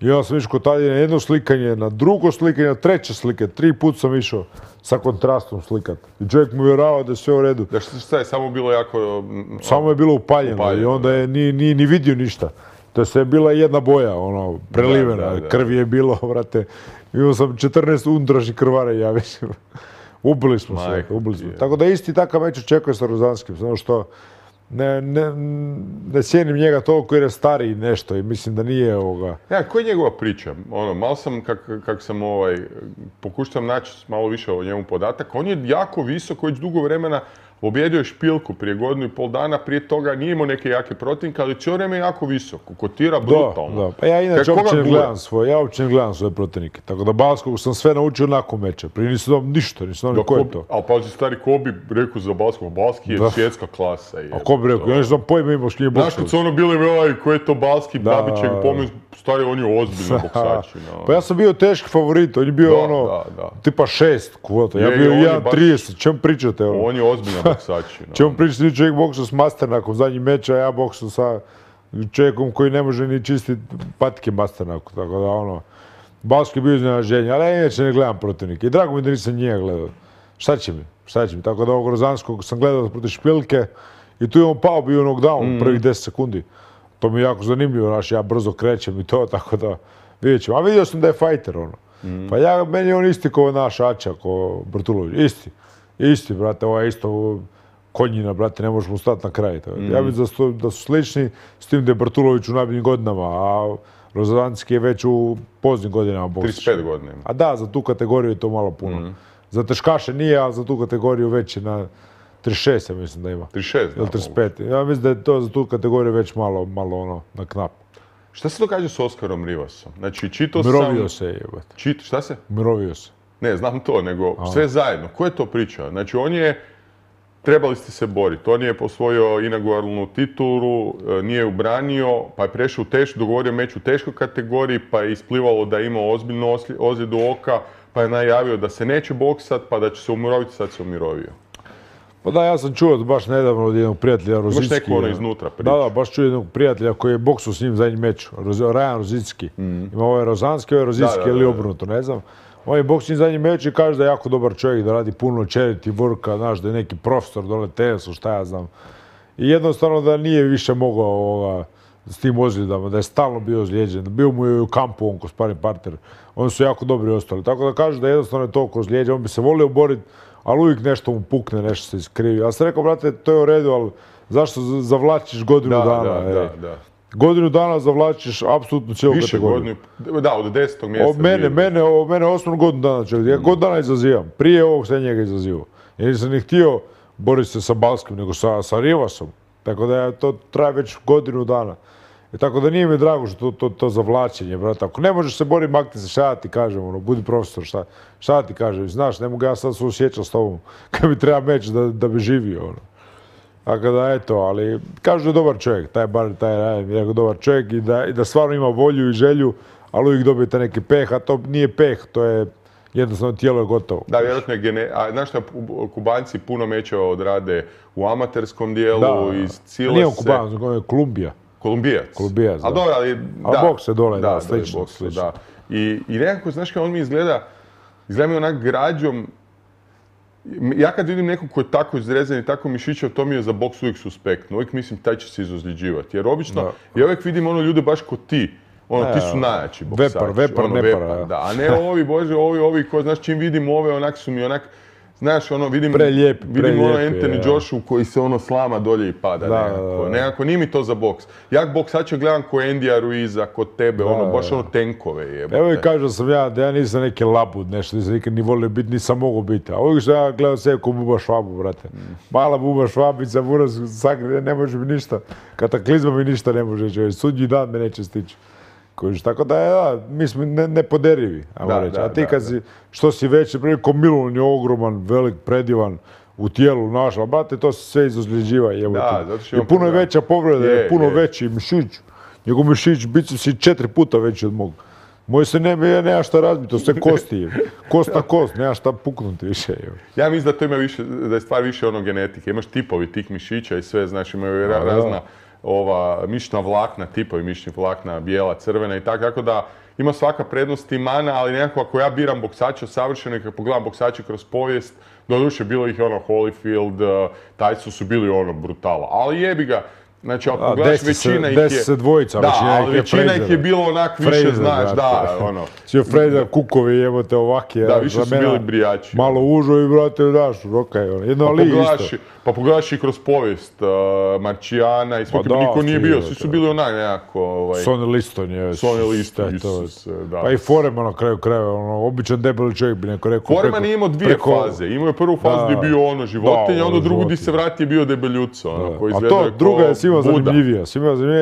I onda sam išao kod Tadje na jedno slikanje, na drugo slikanje, na treće slike. 3 puta sam išao sa kontrastom slikat. I čovjek mu vjerovao da je sve u redu. Da šta je samo bilo jako... Samo je bilo upaljeno i onda je nije ni vidio ništa. To je sve bila jedna boja, ono, prelivena, krv je bilo, brate. Imao sam 14 unutrašnjih krvara, ja mislim. Ubili smo se, ubili smo. Tako da isti takav meč očekuje sa Rozanskim, samo što ne cijenim njega toliko jer je stariji nešto i mislim da nije ovoga. Ja, koja je njegova priča? Ono, malo sam, kak sam pokušam naći malo više o njemu podataka. On je jako visok, već dugo vremena pobjedio je Špilku prije 1,5 dana, prije toga nije imao neke jake protivnike, ali cijelo vrijeme je jako visoko, kotira brutalno. Da. Pa ja inače uopće ne gledam svoje protivnike, tako da Balskog sam sve naučio nakon meča, prije nisam dao ništa, nisam dao ko je to. Ali pazi, stari, ko bi rekao za Balskog? Balski je svjetska klasa. A ko bi rekao? Ja nisam pojma imao što nije boksač. Znaš kad su ono bili, ko je to Balski, Babićeg, pomen, stari, on je ozbiljno boksač. Pa ja sam bio teški favorit, on je bio tipa 6 kvota, ja bio 1,30, čemu pričate? On je ozbiljno boksač. Čemu pričati, čovjek boksao s Masternakom zadnji meč, a ja boksao sa čovjekom koji ne može ni čistiti patike Masternaku, tako da ono, Balski je bio iznenađenje, ali ja inače ne gledam protivnike i drago mi da nisam njega gledao. Šta će mi? Tako da ovog Rozanskog sam gledao protiv Špilke i tu je on pao, bio knockdown prvih 10 sekundi. To mi je jako zanimljivo, znaš, ja brzo krećem i to, tako da vidjet ćemo. A vidio sam da je fajter, ono. Pa meni je on isti kao naš Ača, kao Brtulović, isti, brate, ovo je isto konjina, brate, ne možemo stati na kraj. Ja mislim da su slični, s tim da je Brtulović u najboljim godinama, a Rozanski je već u poznim godinama boksa. 35 godina. A da, za tu kategoriju je to malo puno. Za teškaše nije, a za tu kategoriju već je na 36, ja mislim da ima. 36, da. Ili 35. Ja mislim da je to za tu kategoriju već malo ono, na knap. Šta se događa s Oskarom Rivasom? Znači, čitao sam... Mirovio se je, jebate. Šta se? Mirovio se. Ne, znam to, nego sve zajedno. Ko je to priča? Znači, trebali ste se boriti. On je osvojio inauguarnu titulu, nije ju branio, pa je prešao u dogovorio meč u teškoj kategoriji, pa je isplivalo da je imao ozbiljnu ozljedu oka, pa je najavio da se neće boksat, pa da će se umiroviti, sad se umirovio. Pa da, ja sam čuo baš nedavno od jednog prijatelja Rozicki. Imaš neko ono iznutra priča. Da, baš čuo jednog prijatelja koji je boksao s njim zadnji meč, Rajan Rozicki. Ima ovaj Rozanski, ovaj Rozicki ili obrnuto, ne znam. On je boksao s njim zadnji meč i kaže da je jako dobar čovjek, da radi puno charity worka, znaš, da je neki profesor dole tenesu, šta ja znam. I jednostavno da nije više mogao s tim ozljedama, da je stalno bio ozlijeđen. Bio mu je u kampu on ko sparring partner. Oni su jako dobri ostali. Tako da kaže da jednostavno je toliko ozlijeđen. On bi se volio boriti, ali uvijek nešto mu pukne, nešto se iskrivi. Ja sam rekao, brate, to je u redu, ali zašto zavlačiš godinu dana? Da. Godinu dana zavlačiš apsolutno cijelu kategoriju. Da, od 10. mjeseca. Od mene osnovno godinu dana čovjek. Ja godinu dana izazivam. Prije ovog sam njega izazivao. Jer nisam ni htio boriti se sa Balskim, nego sa Rivasom. Tako da to traje već godinu dana. I tako da nije mi drago što to zavlačenje, brate. Ako ne možeš se boriti, makni se, šta ti kažem, ono, budi profesor, šta ti kažem. Znaš, ne mogu ja sad suosjećati s tobom kad mi treba meč da bi živio, ono. Tako da, eto, ali kažu da je dobar čovjek, taj Rajan je dobar čovjek i da stvarno ima volju i želju, ali uvijek dobijete neki peh, a to nije peh, to je jednostavno tijelo je gotovo. Da, vjerojatno je znaš šta, Kubanci puno mečeva odrade u amaterskom dijelu, iz Cilese. Nije Kubanac, nego je Kolumbija. Kolumbijac, da. Ali boks je dole, da, slično. I nekako, znaš kao on mi izgleda mi onak građom. Ja kad vidim nekog koji je tako izrezan i tako mišićav, to mi je za boks uvijek suspektno. Uvijek mislim taj će se izozljeđivati. Jer obično, ja uvijek vidim ljude baš ko ti. Ti su najjači boksači. Vepar. A ne ovi, bože, ovi koji, znaš, čim vidim ove, onak su mi onak, znaš, vidim Anthony Joshu koji se slama dolje i pada nekako. Nije mi to za boks. Ja boksače gledam ko Endija Ruiza, ko tebe, baš tenkove jebate. Evo i kažem sam da ja nisam neki labud, nešto, nisam nikad ni volio biti, nisam mogao biti. A uvijek što ja gledam sebe ko Buba Švabu, brate. Mala Buba Švabica, buraz sakri, ne može mi ništa. Kataklizma mi ništa ne može čovjek. Sudnji dan me neće stići. Tako da, mi smo nepoderivi, ajmo reći. A ti kad si, što si veći, ko Milun je ogroman, velik, predivan, u tijelu naš, ali brate, to se sve izozljeđiva. I puno je veća povreda, je puno veći mišić. Njegov mišić, biceps je 4 puta veći od mog. Moj se nema šta razbiti, to sve kosti. Kost na kost, nema šta puknuti više. Ja mislim da to ima više, da je stvar više genetike. Imaš tipovi tih mišića i sve, znaš, imaju razna mišićna vlakna, tipovi mišićnih vlakna, bijela, crvena i tako da ima svaka prednost i mana, ali nekako ako ja biram boksača savršeno i kad pogledam boksače kroz povijest, doduše bilo ih Holyfield, Tyson su bili brutala, ali jebi ga, Znači, ako pogledaš, većina ih je... Desi se dvojica, da, ali većina ih je bilo onak više, znaš, da, ono. Svi Fraser, kukovi, jebote, ovaki. Da, više su bili brijači. Malo užo i, brate, daš, okej, jedno ali isto. Pa pogledaš i kroz povijest Marčijana i svaki, niko nije bio, svi su bili onak nekako... Sonny Liston je... Sonny Liston, Isus, da. Pa i Foreman na kraju krajeva, običan debeli čovjek bi neko rekao... Foreman je imao dvije faze, imao je prvu fazu gdje je bio ono životinja, onda drugu gdje se vrati je bio debeljuco, ono, koji izgleda a to druga je svima zanimljivija,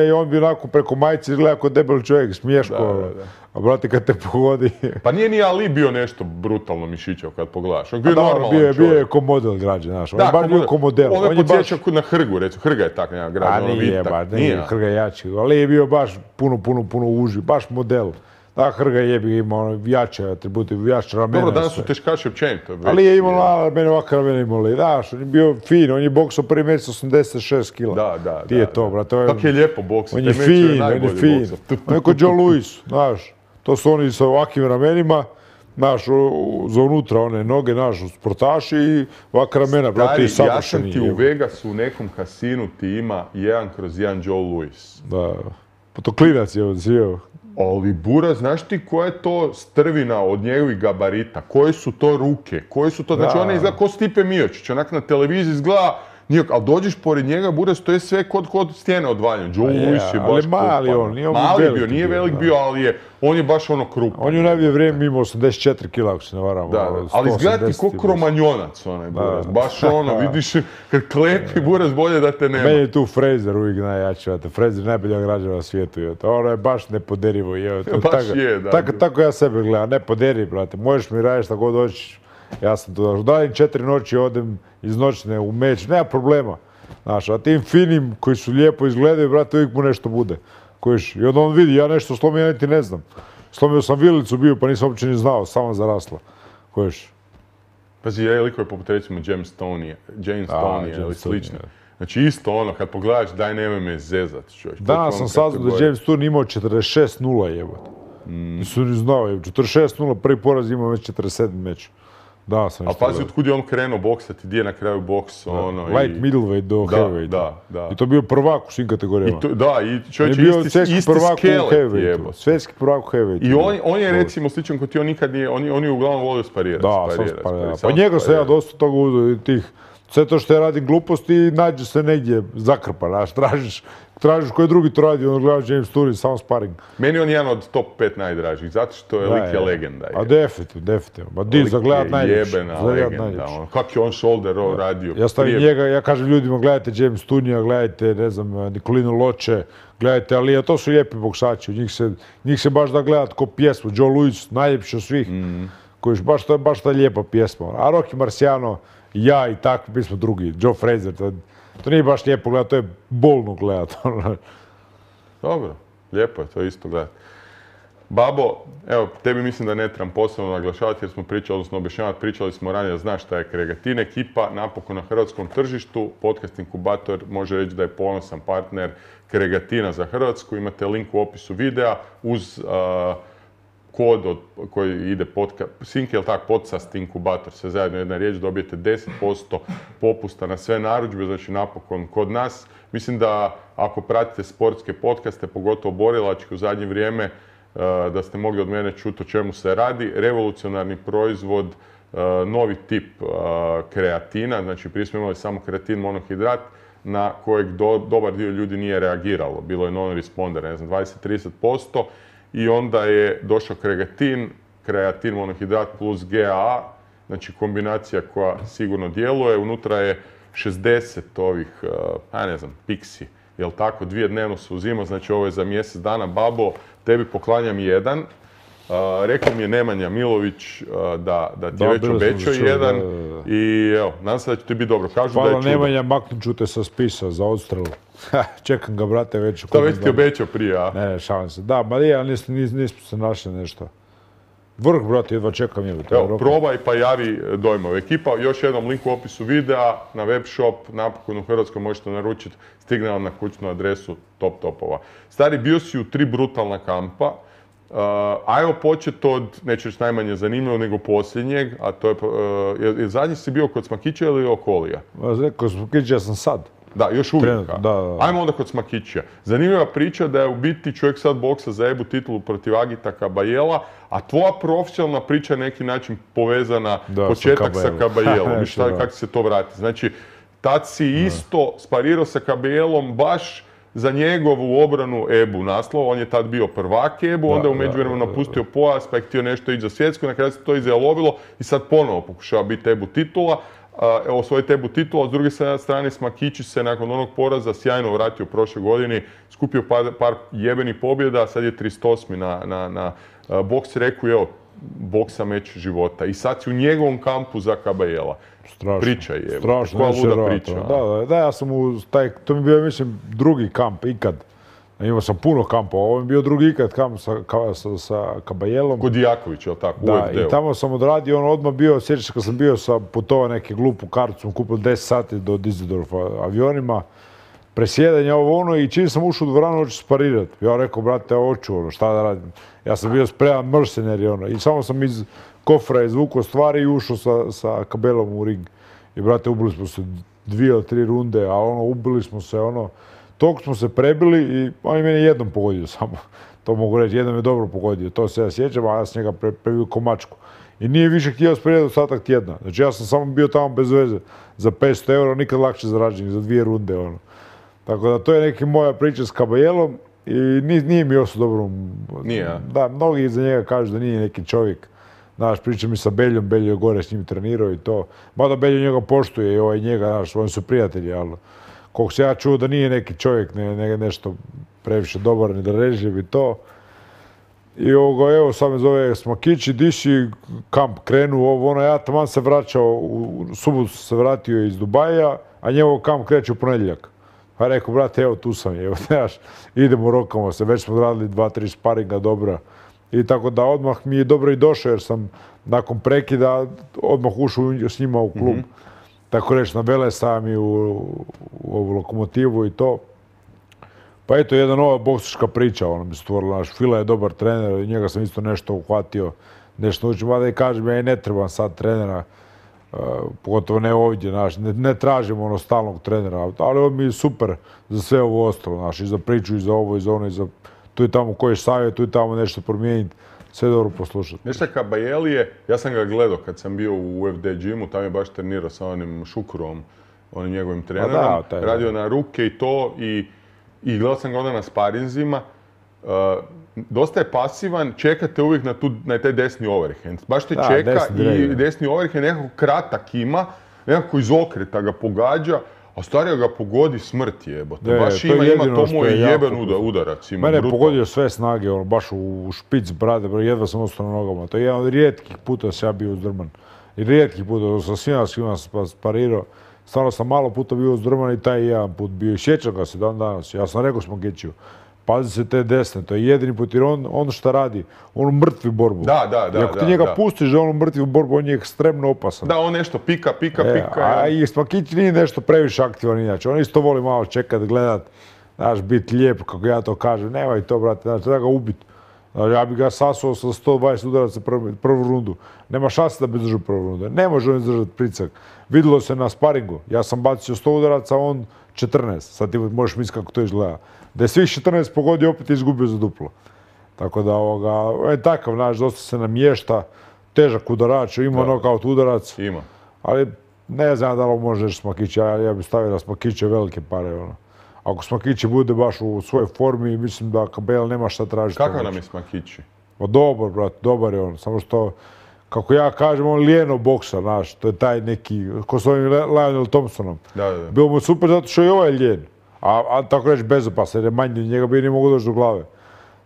i on bi onako preko majice izgleda kao debeli čovjek, smiješko. A brate, kad te pogodi... Pa nije ni Ali bio nešto brutalno mišićav kad pogledaš. On bio normalan čovjek. Bio je ko model građe, znaš. On je baš bio ko model. On je podsjećao na Hrgu, recimo. Hrga je tak nekak građe, ono vitak. Nije, Hrga je jači. Ali je bio baš puno uži, baš model. Da, Hrga je imao jače atribute, jače ramena. Dobro, danas su teškaši općenito. Ali je imao ramene, ovakve ramene imali. Daš, on je bio fin, on je boksao prvi meč 86 kila. Da. Ti je to, brate. Kako je lijepo boksao. On je fin, on je fin. On je ko Joe Louis, znaš. To su oni sa ovakvim ramenima, znaš, za unutra one noge, znaš, sportaši i ovakva ramena, brate, i savršeni. Ja sam ti u Vegasu u nekom kasinu ti ima 1/1 Joe Louis. Da, pa to klinac je on sjeo. Ali Bura, znaš ti koja je to strvina od njegovih gabarita? Koje su to ruke? Koje su to, znači ona izgleda ko Stipe Miočić, onak na televiziji izgleda ali dođeš pored njega, Buras, to je sve kod stijene odvaljeno. Joe Louis je baš ali mali on, nije on mali bio, nije velik bio, ali on je baš ono krupan. On je u najbolje vrijeme imao 84 kila, ako se ne varam. Da, ali izgleda ti ko kromanjonac onaj Buras. Baš ono, vidiš, kad klepi Buras bolje da te nema. Meni je tu Fraser uvijek najjači, Fraser je najbolja građana na svijetu. Ono je baš nepoderivo. Baš je, da. Tako ja sebe gledam, nepoderiv, brate. Možeš mi raditi šta god hoćeš. Ja sam to došao. Dajem 4 noći, odem iz noćne u meč, nema problema. Znaš, a tim finim koji su lijepo izgledaju, brate, uvijek mu nešto bude. I onda on vidi, ja nešto slomio, ja niti ne znam. Slomio sam vilicu bio, pa nisam uopće ni znao, samo zarasla. Pazi, je liko poput recimo James Stoney ili slično. Znači isto ono, kad pogledaš, daj nemoj me zezat, čovječ. Danas sam saznao da James Stoney imao 46-0 jebote. Nisam ni znao, 46-0, prvi poraz imao već 47 meč. Da, sam a pazi otkud je on krenuo boksati, gdje je na kraju boks, ono... Light middleweight do heavyweight. Da. I to je bio prvak u svim kategorijama. Da, i čovječe isti skelet jebo. Svjetski prvak u heavyweight. I on je recimo sličan kod ti, on nikad nije, on je uglavnom volio sparirati. Da, sam sparirati. Pa njega sam ja dosta toga uzeo, tih... Sve to što ja radim gluposti, nađe se negdje zakrpa, znaš, tražiš koji drugi to radi, ono gledaš James Stoney, samo sparing. Meni on jedan od top 5 najdražih, zato što je lik je legenda. A definitivno. Ma di, za gledat najljepši. Jebena legenda, kak je on shoulder roll radio. Ja stavim njega, ja kažem ljudima, gledajte James Stoney, gledajte, ne znam, Nikolinu Loče, gledajte Alija, to su lijepi boksači, njih se baš da gledat ko pjesmu. Joe Louis, najljepši od svih, koji baš ta lijepa pjesma. A Rocky Marciano, ja i tako, mi smo drugi, Joe Fraser, to nije baš lijepo gledati, to je bolno gledati. Dobro, lijepo je to isto gledati. Babo, evo, tebi mislim da ne trebam posebno naglašavati jer smo pričali, odnosno objašnjavati, pričali smo ranije da znaš šta je Kregatin ekipa, napokon na hrvatskom tržištu. Podcast Inkubator može reći da je ponosan partner Kregatina za Hrvatsku. Imate link u opisu videa uz kod koji ide Sinkel, podcast Inkubator, sve zajedno jedna riječ, dobijete 10% popusta na sve narudžbe, znači napokon kod nas. Mislim da ako pratite sportske podcaste, pogotovo borilačke u zadnje vrijeme, da ste mogli od mene čuti o čemu se radi. Revolucionarni proizvod, novi tip kreatina, znači prije smo imali samo kreatin monohidrat, na kojeg dobar dio ljudi nije reagiralo. Bilo je non-responder, ne znam, 20-30%. I onda je došao kreatin monohidrat plus GAA, znači kombinacija koja sigurno djeluje. Unutra je 60 ovih, piksi, jel tako, 2 dnevno se uzima, znači ovo je za mjesec dana. Babo, tebi poklanjam 1. Rekao mi je Nemanja Milović da ti već obećao 1 i evo, nadam se da će ti biti dobro. Kažu da je čudo. Hvala Nemanja, maknut ću te sa spisa za odstrelu. Čekam ga, brate, već. To već ti obećao prije, a? Ne, šalim se. Da, ma nismo se našli nešto. Vrh, brate, jedva čekam je. Evo, probaj pa javi dojmove. Ekipa, još jednom link u opisu videa, na web shop, napokon u Hrvatskoj možete naručiti, stigne vam na kućnu adresu topova. Stari, bio si u 3 brutalna kampa. Ajmo početi od, neću reći najmanje zanimljivo, nego posljednjeg, a to je, zadnji si bio kod Smakića ili Okolija? Kod Smakića sam sad. Da, još uvijek. Trenutno, da. Ajmo onda kod Smakićija. Zanimljiva priča da je u biti čovjek sad boksa za EBU titulu protiv Agita Kabayela, a tvoja profesionalna priča je na neki način povezana početak sa Kabayelom. Kako se to vrati? Znači, tad si isto sparirao sa Kabayelom baš za njegovu obranu EBU naslova. On je tad bio prvak EBU, onda je u međuvremenu napustio pojas, pa je htio nešto ići za svjetsku, na kraju se to izjalovilo i sad ponovo pokušava biti EBU titula. Osvojiti EBU titula, s druge strane Smakićić se nakon onog poraza sjajno vratio u prošle godini, skupio par jebenih pobjeda, sad je 38. na boks reku, evo, boksa meč života. I sad si u njegovom kampu za Kabayela. Priča je, koja luda priča. Da, ja sam to mi je bio, mislim, drugi kamp ikad. Imao sam puno kampova, ovo mi je bio drugi ikad kamp sa Kabayelom. Kod Jakovića, je li tako? Da, i tamo sam odradio, on odmah bio, sjećaš kad sam bio putovao neke glupu kartu, sam kupio 10 sati do Düsseldorfa avionima, presjedanja ovo ono i čim sam ušao u dvoranu, hoću sparirati. Ja rekao, brate, hoću, šta da radim. Ja sam bio spreman mercenary, i samo sam iz kofra izvukao stvari i ušao sa Kabayelom u ring. I brate, ubili smo se 2 ili 3 runde, a ubili smo se, toliko smo se prebili i on je mene jednom pogodio samo. To mogu reći, jednom je dobro pogodio, to se ja sjećam, a ja sam njega prebio ko mačku. I nije više htio sparirati ostatak tjedna. Znači ja sam samo bio tamo bez veze za 500 eura, nikad lakše zarađenih, za 2 runde. Tako da to je neka moja priča s Kabayelom i nije mi oso dobro. Nije, a? Da, mnogi iza njega kažu da nije neki čovjek. Znaš, pričam i sa Beljom, Beljo je gore s njim trenirao i to. Mada Beljo njega poštuje i ovaj njega, znaš, oni su prijatelji, ali koliko se ja čuo da nije neki čovjek, nešto previše dobar, ni da reživ i to. I evo, sad me zove Smakić i di si kamp krenuo, ja taman se vraćao, u subotu se vratio iz Dubaja, a njegov kamp kreće u ponedjeljak. Pa rekao, brate, evo tu sam, evo, znaš, idemo, rokamo se, već smo radili 2-3 sparinga dobra. I tako da odmah mi je dobro i došao jer sam nakon prekida odmah ušao s njima u klub. Tako reći, na Velesa i u ovu Lokomotivu i to. Pa eto, jedna nova boksačka priča, mi se stvorila. Fila je dobar trener i njega sam isto nešto uhvatio, nešto naučio. Mada i kažem, ja i ne trebam sad trenera, pogotovo ne ovdje, ne tražim stalnog trenera, ali on mi je super za sve ovo ostalo, i za priču, i za ovo, i za ono, i za tu i tamo koji savjet, tu i tamo nešto promijeniti, sve dobro poslušati. Nešto Kabayel je, ja sam ga gledao kad sam bio u UFD gymu, tam je baš trenirao sa onim Šukurom, onim njegovim trenerom, radio na ruke i to, i gledao sam ga onda na sparinzima. Dosta je pasivan, čekate uvijek na taj desni overhand. Baš te čeka i desni overhand nekako kratak ima, nekako iz okreta ga pogađa, a starija ga pogodi smrt jebote. Baš ima to moj jeben udarac. Mene je pogodio sve snage, baš u špic brade, jedva sam ostao na nogama. To je jedan od rijetkih puta da sam ja bio uzdrman. I rijetkih puta, sa svima sam sparirao. Stvarno sam malo puta bio uzdrman i taj jedan put bio. I sjećam ga se dan danas. Ja sam rekao Smakiću, pazi se te desne, to je jedini put, jer on šta radi, on mrtvi borbu. Da. I ako ti njega pustiš da on mrtvi borbu, on je ekstremno opasan. Da, on nešto pika. A i Smakić nije nešto previše aktivan inače, on isto voli malo čekat, gledat, znaš, biti lijep, kako ja to kažem, nemoj to, brate, znači, treba ga ubiti. Ja bi ga sasuo sa 120 udaraca prvu rundu. Nema šanse da bi držao prvu rundu. Ne može on izdržati pritisak. Vidjelo se na sparingu. Ja sam bacio 100 udaraca, on 14. Sad ti možeš misliti kako to izgleda. Da je svih 14 pogodio, opet izgubio za duplo. Tako da, on je takav, znaš, dosta se namješta. Težak udarač, ima nokaut udarac. Ima. Ali ne znam da li može reći Smakić. Ja bih stavio na Smakiće velike pare, Ako Smakić bude baš u svojoj formi, mislim da Kabayel nema šta tražiti. Kakav nam je Smakić? Dobar, brate, dobar je on. Samo što, kako ja kažem, on lijeno boksa, znaš. To je taj neki, ko s ovim Lionel Thompsonom. Da. Bilo mu super zato što je ovaj lijen. A tako reći bezopasan, jer je manji od njega bi ne mogu doći do glave.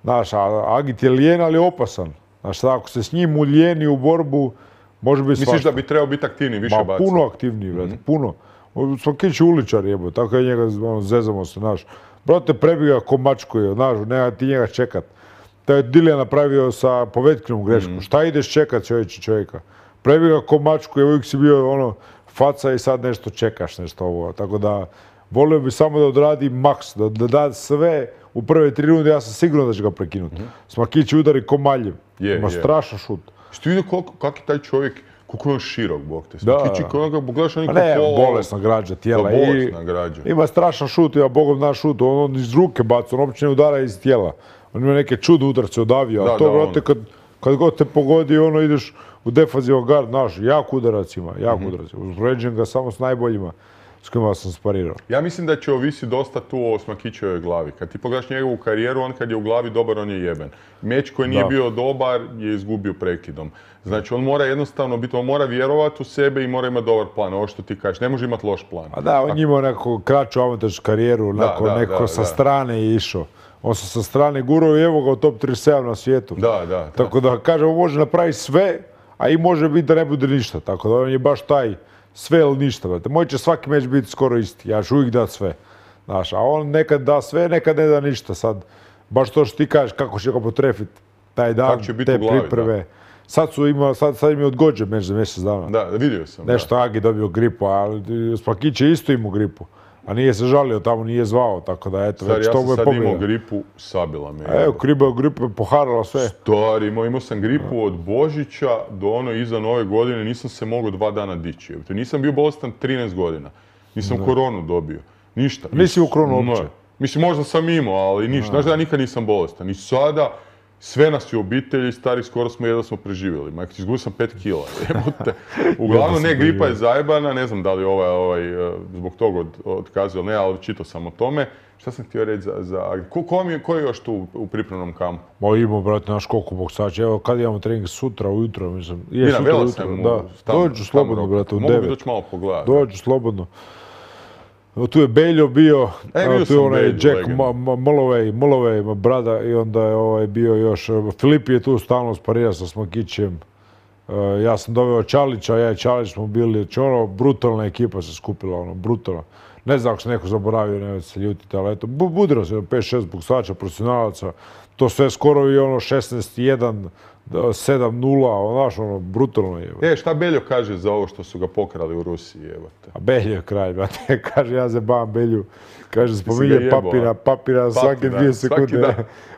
Znaš, Agit je lijen, ali opasan. Znaš, ako se s njim ulijeni u borbu, može biti svašta. Misliš da bi trebao biti aktivniji, više baci? Puno aktivniji, brate, puno. Smakić je uličar, jebo, tako je njega, zezamo se, znaš. Brate, prebiga ko mačku, znaš, nema ti njega čekat. To je Dilija napravio sa Povetkinom grešku. Šta ideš čekat čovjeka? Prebiga ko mačku, uvijek si bio faca i sad nešto čekaš, nešto ovo. Tako da, volio bi samo da odradi maks, da da sve u prve 3 runde, ja sam siguran da će ga prekinuti. Smakić udari ko maljev. Ima strašan šut. Što vidio kako je taj čovjek Koliko je on širok, bog te. Da. Smakići, ono pogledaš Pa niko ne, pola... bolesna građa tijela. Bolesna građa. Ima strašan šut, ja bogom naš šut, on iz ruke baca, on uopće ne udara iz tijela. On ima neke čudne udarce od avija, a to, brate, kad god te pogodi, ono ideš u defazivan gard, naš, jak udarac ima, jak udarac. Uspoređujem ga samo s najboljima s kojima sam sparirao. Ja mislim da će ovisi dosta tu o Smakićevoj glavi. Kad ti pogledaš njegovu karijeru, on kad je u glavi dobar, on je jeben. Meč koji nije bio dobar je izgubio prekidom. Znači on mora jednostavno biti, on mora vjerovati u sebe i mora imati dobar plan. Ovo što ti kažeš, ne može imati loš plan. A da, on je imao neku kraću avantagnu karijeru, neko sa strane je išao. On se sa strane gurao i evo ga u top 37 na svijetu. Da. Tako da kažem, on može napraviti sve, a i može biti da ne bude ništa. Tako da on je baš taj sve ili ništa. Brate. Moj će svaki meč biti skoro isti. Ja ću uvijek dati sve. Znaš, a on nekad da sve, nekad ne da ništa. Sad, baš to što ti kažeš kako će ga potrefiti taj dan, te pripreme. Sad im je odgođen meč za mjesec dana. Da, vidio sam. Nešto Agi dobio gripu, ali Smakić je isto imao gripu. A nije se žalio, tamo nije zvao, tako da eto, već to mu je pobjeda. Ja sam sad imao gripu, sabila me. Evo, gripa je poharala sve. Stari, imao sam gripu od Božića do ono iza Nove godine, nisam se mogao 2 dana dići. Nisam bio bolestan 13 godina. Nisam koronu dobio. Ništa. Nisi u koronu uopće? Mislim, možda sam imao, ali ništa. Znaš da ja nikad nisam bolestan. I sada, sve nas je u obitelji, stari, skoro smo jedva smo preživjeli. Majko, izgubio sam 5 kila. Uglavnom, ne, gripa je zajebana, ne znam da li zbog toga otkazio, ne, ali čitao sam o tome. Šta sam htio reći za... Ko je još tu u pripremnom kampu? Ma imamo, brate, naš koliko boksača. Evo, kad imamo trening sutra ujutro, mislim. Je sutra ujutro, da. Dođu slobodno, brate, u 9. Mogu bi doći malo pogledati. Dođu slobodno. Tu je Beljo bio, tu je onaj Jack Mulloway, brada, i onda je bio još, Filip je tu stalno sparirao sa Smakićem. Ja sam doveo Čalića, ja i Čalić smo bili, brutalna ekipa se skupila, brutalna. Ne znam ako se neko zaboravio, ne se ljutite, ali eto, budilo se 5-6 boksača, profesionalaca, to sve skoro i 16-1, 7-0, znaš, brutalno je. Šta Beljo kaže za ovo što su ga pokrali u Rusiji, jebate? A Beljo je kralj, brate, kaže, ja zebam Belju, kaže, spominje papira svake 2 sekunde.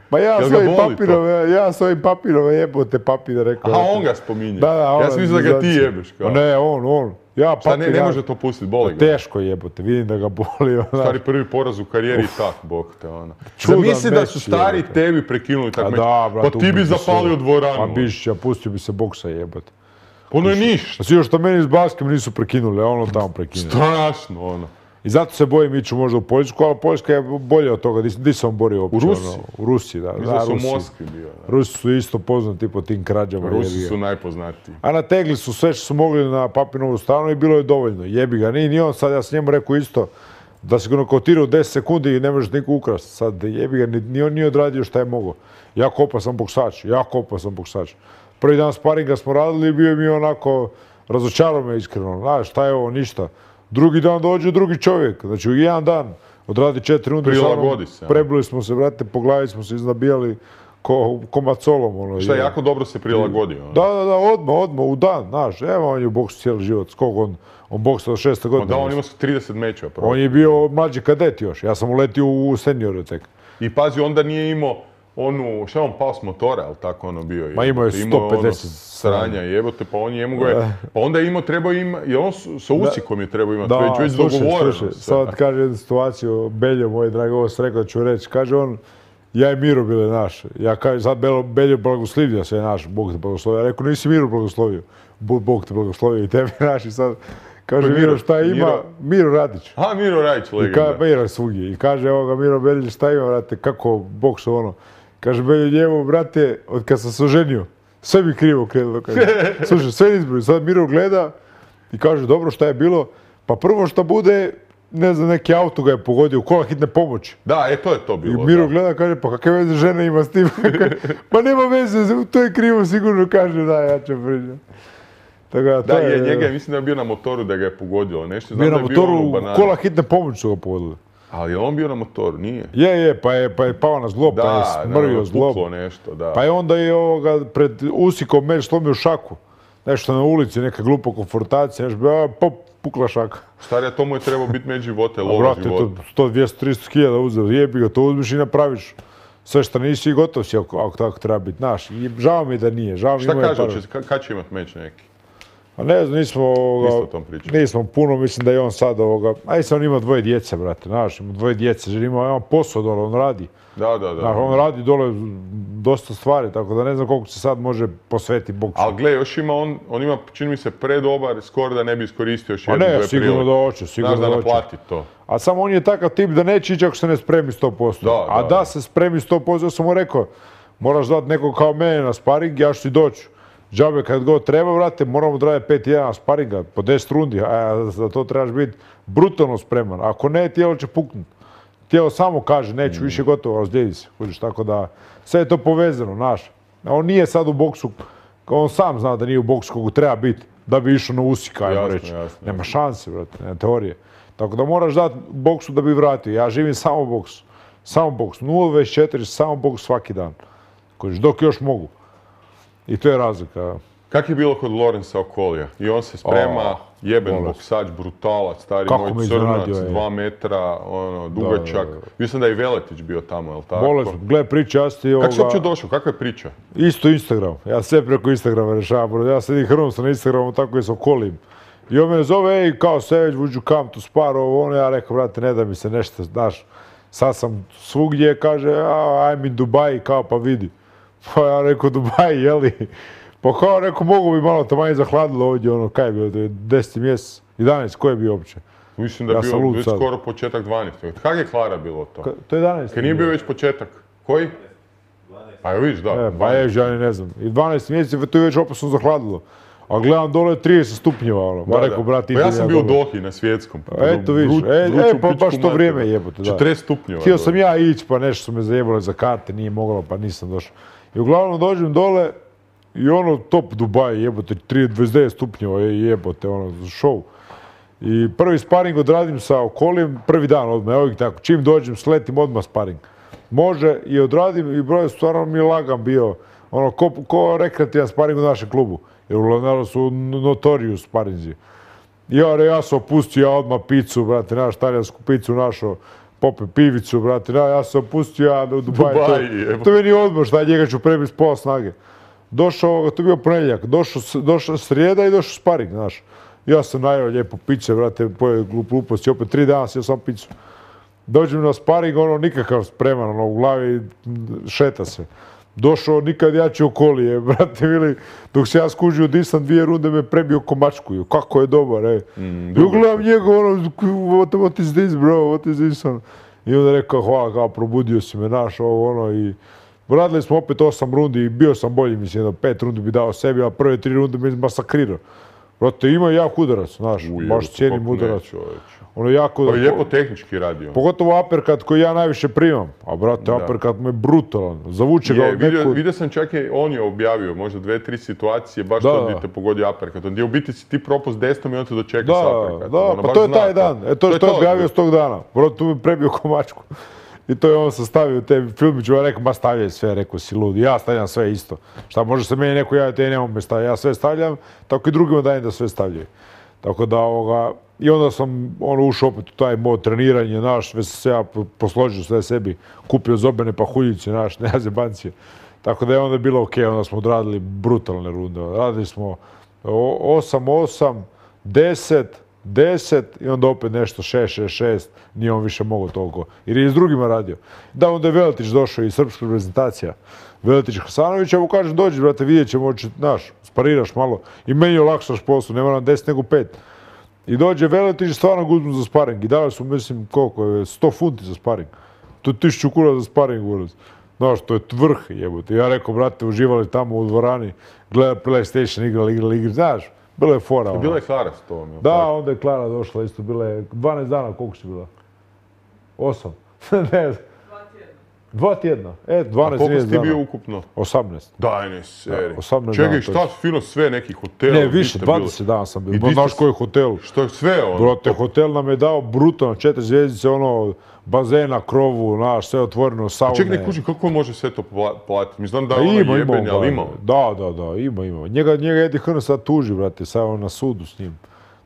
Ma ja svojim papirove jebote papira, rekao. A on ga spominje? Ja sam mislio da ga ti jebeš. Ne, on. Šta ne može to pustiti, boli ga? Teško jebote, vidim da ga boli. Stari prvi poraz u karijeri i tak, bog te ona. Zamisli da su stari tebi prekinuli tak meč, pa ti bi zapalio dvoranu. Pa Bišića, pustio bi se boksa jebote. Ono je ništa. Svi što meni s baskem nisu prekinuli, a ono tamo prekinuli. Strašno ono. I zato se bojim ići možda u Poljsku, ali Poljska je bolja od toga. Gdje sam borio uopće? U Rusiji? U Rusiji, da. Mislim da su u Moskvi bio. Rusi su isto poznati po tim krađama. Rusi su najpoznatiji. A nategli su sve što su mogli na Papinovu stranu i bilo je dovoljno. Jebi ga. Ni on sad, ja sam njemu rekao isto, da se ga nokautirao 10 sekundi i ne možeš niko ukrasti. Sad jebi ga, ni on nije odradio šta je mogao. Jako opasan boksač. Prvi dan sparinga smo radili i bio mi onako, razočarao me iskreno. Znaš, šta je ovo, ništa. Drugi dan dođe drugi čovjek, znači u jedan dan odradi 4 runde. Prilagodi se. Prebili smo se, brate, po glavi smo se iznabijali ko macolom. Šta jako dobro se prilagodio. Da, odmah, u dan, znaš, evo on je u boksu cijeli život, skog on boksa od 6. godine. Da, on ima 30 mečeva. On je bio mlađi kadet još, ja sam uletio u seniore tek. I pazi, onda nije imao onu, šta je on pao s motora, ali tako ono bio je. Ma imao je 150 sranja, jebote, pa on njemu ga je, pa onda je imao, trebao imati, i on sa Usikom je trebao imati, već dogovoreno. Sad kaže jednu situaciju, Beljo, moj dragi, ovo sam rekao da ću reći, kaže on, ja i Miro bile naš, ja kažem, sad Beljo blagoslivio se je naš, Bog te blagoslovio, ja rekao, nisi Miro blagoslovio, Bog te blagoslovio i tebi naš i sad, kaže Miro šta ima, Miro Radić. A, Miro Radić, legenda. Miro svugdje, i kaže, evo ga Miro Beljić, šta ima, brate, kako boksu ono. Kaže, Beljo njemu, brate, od kad sam se oženio, sve mi krivo krenulo. Slušaj, sve izbroj, sad Miro gleda i kaže, dobro, šta je bilo? Pa prvo što bude, ne znam, neki auto ga je pogodio, kola hitne pomoći. Da, to je to bilo. I Miro gleda, kaže, pa kakve veze žena ima s tim? Pa nema veze, to je krivo, sigurno kaže, da, ja ću pričati. Da, njega je, mislim da je bio na motoru da ga je pogodilo nešto. Bio na motoru, kola hitne pomoći su ga pogodili. Ali je on bio na motoru, nije? Pa je pao na zglob, pa je smrvio zglob. Nešto, da. Pa je onda je pred Usikom meč slomio šaku. Nešto na ulici, neka glupa konfrontacija, pukla šaka. Starija, to mu je trebao biti među života, lova života. Brate, to 100-200-300 hiljada uzeo, jebi ga, to uzmiš i napraviš. Sve što nisi i gotov si ako tako treba biti naš. I žao mi da nije, žao mi Šta kaže, kad će imat meč neki? A ne znam, Isto o tom pričam. nismo puno, mislim da je on sad a on ima 2 djece, brate, znaš, ima 2 djece, jer ima posao dole, on radi. Da. Znaš, on radi dole dosta stvari, tako da ne znam koliko se sad može posvetiti boksu. Ali gle, još ima on ima, čini mi se, predobar skor da ne bi iskoristio još jednu, dve prilike. Sigurno da hoće, sigurno da Znaš da hoće. naplati to. A samo on je takav tip da neće ići ako se ne spremi 100%. A da se spremi 100%, ja sam mu rekao, moraš dati nekog kao mene na sparing, ja ću ti doći. Džabe kad god treba, vrate, moramo odraditi 5-1 sparinga po 10 rundi, a za to trebaš biti brutalno spreman. Ako ne, tijelo će puknuti. Tijelo samo kaže, neću više gotovo, razlijedi se. Kužiš, tako da, sve je to povezano, znaš. On nije sad u boksu, on sam zna da nije u boksu kogu treba biti, da bi išao na usika, ajmo reći. Nema šanse, vrate, nema teorije. Tako da moraš dati boksu da bi vratio. Ja živim samo boksu. Samo boks. 0-24, samo boks svaki dan. Kužiš, dok još mogu. I to je razlika. Kak je bilo kod Lorenza Okolija? I on se sprema, jeben boksač, brutalac, stari moj crnac, 2 metra, dugačak. Mislim da je i Veletić bio tamo, jel tako? Bolest, gle, priča, ja si ti Kako si uopće došao? Kakva je priča? Isto Instagram. Ja sve preko Instagrama rešavam. Ja sedim hrvom na Instagramu, tako i s Okolijim. I on me zove, ej, kao Savage, would you come to spar, ono, ja rekao, brate, ne da mi se nešto, znaš, sad sam svugdje, kaže, I'm in Dubai, kao, pa vidi. Pa ja rekao, Dubai, jeli? Pa kao, rekao, mogu bi malo taman zahladilo ovdje, ono, kaj je bilo, 10. mjesec, 11, ko je bio uopće? Mislim da je bio skoro početak 12. Kak je Klara bilo to? To je 11. Kad nije bio već početak? Koji? 12. Pa vidiš, da. Pa je, ja ne znam. I 12 mjeseci, to je već opasno zahladilo. A gledam dole 30 stupnjeva, ono. Ma rekao, brate, pa ja sam bio u Dohi na svjetskom. Eto vidiš, pa baš to vrijeme jebote, da. 40 stupnjeva. Htio sam ja ići, pa nešto su me zajebali za karte, nije moglo, pa nisam došao. I uglavnom dođem dole i ono top Dubai, jebote, 29 stupnjeva jebote, ono, show. I prvi sparing odradim sa Okolijem, prvi dan odmah, evo ih tako, čim dođem, sletim odmah sparing. Može i odradim i broj stvarno mi je lagan bio, ono, ko rekreativan sparing u našem klubu. Jer uglavnom su notorious sparinzi. Ja sam opustio, ja odmah picu, brate, naš talijansku picu našao, popio pivicu, brate, ja sam opustio, ja u Dubai. To meni odmah, šta njega ću prebiti s pola snage. Došao, to je bio ponedjeljak, došao srijeda i došao sparing, znaš. Ja sam najeo lijepo piće, brate, pojeo gluposti, opet 3 dana sjeo sam picu. Dođem na sparing, ono, nikakav spreman, ono, u glavi šeta se. Došao nikad jači Okolije, brate mili, dok se ja skužio disam 2 runde me prebio ko mačku. Kako je dobar, ej. I ugledam njega, ono, what is this, bro, what is this, ono. I onda rekao, hvala, kao, probudio si me, naš, ovo, ono, i radili smo opet 8 rundi i bio sam bolji, mislim, 5 rundi bi dao sebi, a prve 3 runde me masakrirao. Brate, ima jak udarac, znaš, baš cijenim udarac. Ono jako... Pa je lijepo tehnički radio. Pogotovo uppercut koji ja najviše primam. A brate, uppercut mu je brutalan. Zavuče ga od neku... Vidio sam čak i on je objavio možda 2-3 situacije, baš to gdje te pogodio uppercut. Gdje u biti si ti propust desnom i on te dočeka sa uppercutom. Da, pa to je taj dan. To je objavio s tog dana. Brate, tu mi prebio ko mačku. I to je on sastavio u te filmiću, ja rekao, ma stavljaj sve, rekao si lud. Ja stavljam sve isto. Šta, može se meni neko javiti, nemam me stavljati. Ja sve stavljam, tako i drugima dajem da sve stavljaju. Tako da, i onda sam ušao opet u taj mod treniranja, naš, sve se ja posložio sve sebi, kupio zobene pahuljice, naš, ne zebancije. Tako da je onda bilo okej, onda smo odradili brutalne runde. Radili smo 8-8, 10 i onda opet nešto 6-6-6, nije on više mogao toliko. Jer je i s drugima radio. Da, onda je Veletić došao i srpska reprezentacija. Veletić Hasanović, ja mu kažem, dođi, brate, vidjet ćemo, znaš, spariraš malo. I meni olakšaš poslu, ne moram 10 nego 5. I dođe Veletić i stvarno ga uzmu za sparing. I dali su, mislim, koliko je, 100 funti za sparing. To je 1000 kuna za sparing, uraz. Znaš, to je vrh, jebote. Ja rekao, brate, uživali tamo u dvorani, gledali PlayStation, igrali, znaš. Bilo je fora. Bila je Klara s tom. Da, onda je Klara došla, isto bila je 12 dana, koliko si bila? 8. Ne znam. 2 tjedna. 12 dana. A koliko si ti bio ukupno? 18. Daj, ne seri. 18 čekaj, šta fino sve neki hoteli? Ne, više, 20 dana sam bio. Znaš koji je hotel? Što je sve ono? Brate, hotel nam je dao brutalno, 4 zvjezdice, ono, bazena, krovu, naš, sve otvoreno, saune. Čekaj, ne kuži, kako može sve to platiti? Mi znam da je ono jebeni, ali ima. Da, ima. Njega Edi Hrn sad tuži, brate, sad on na sudu s njim.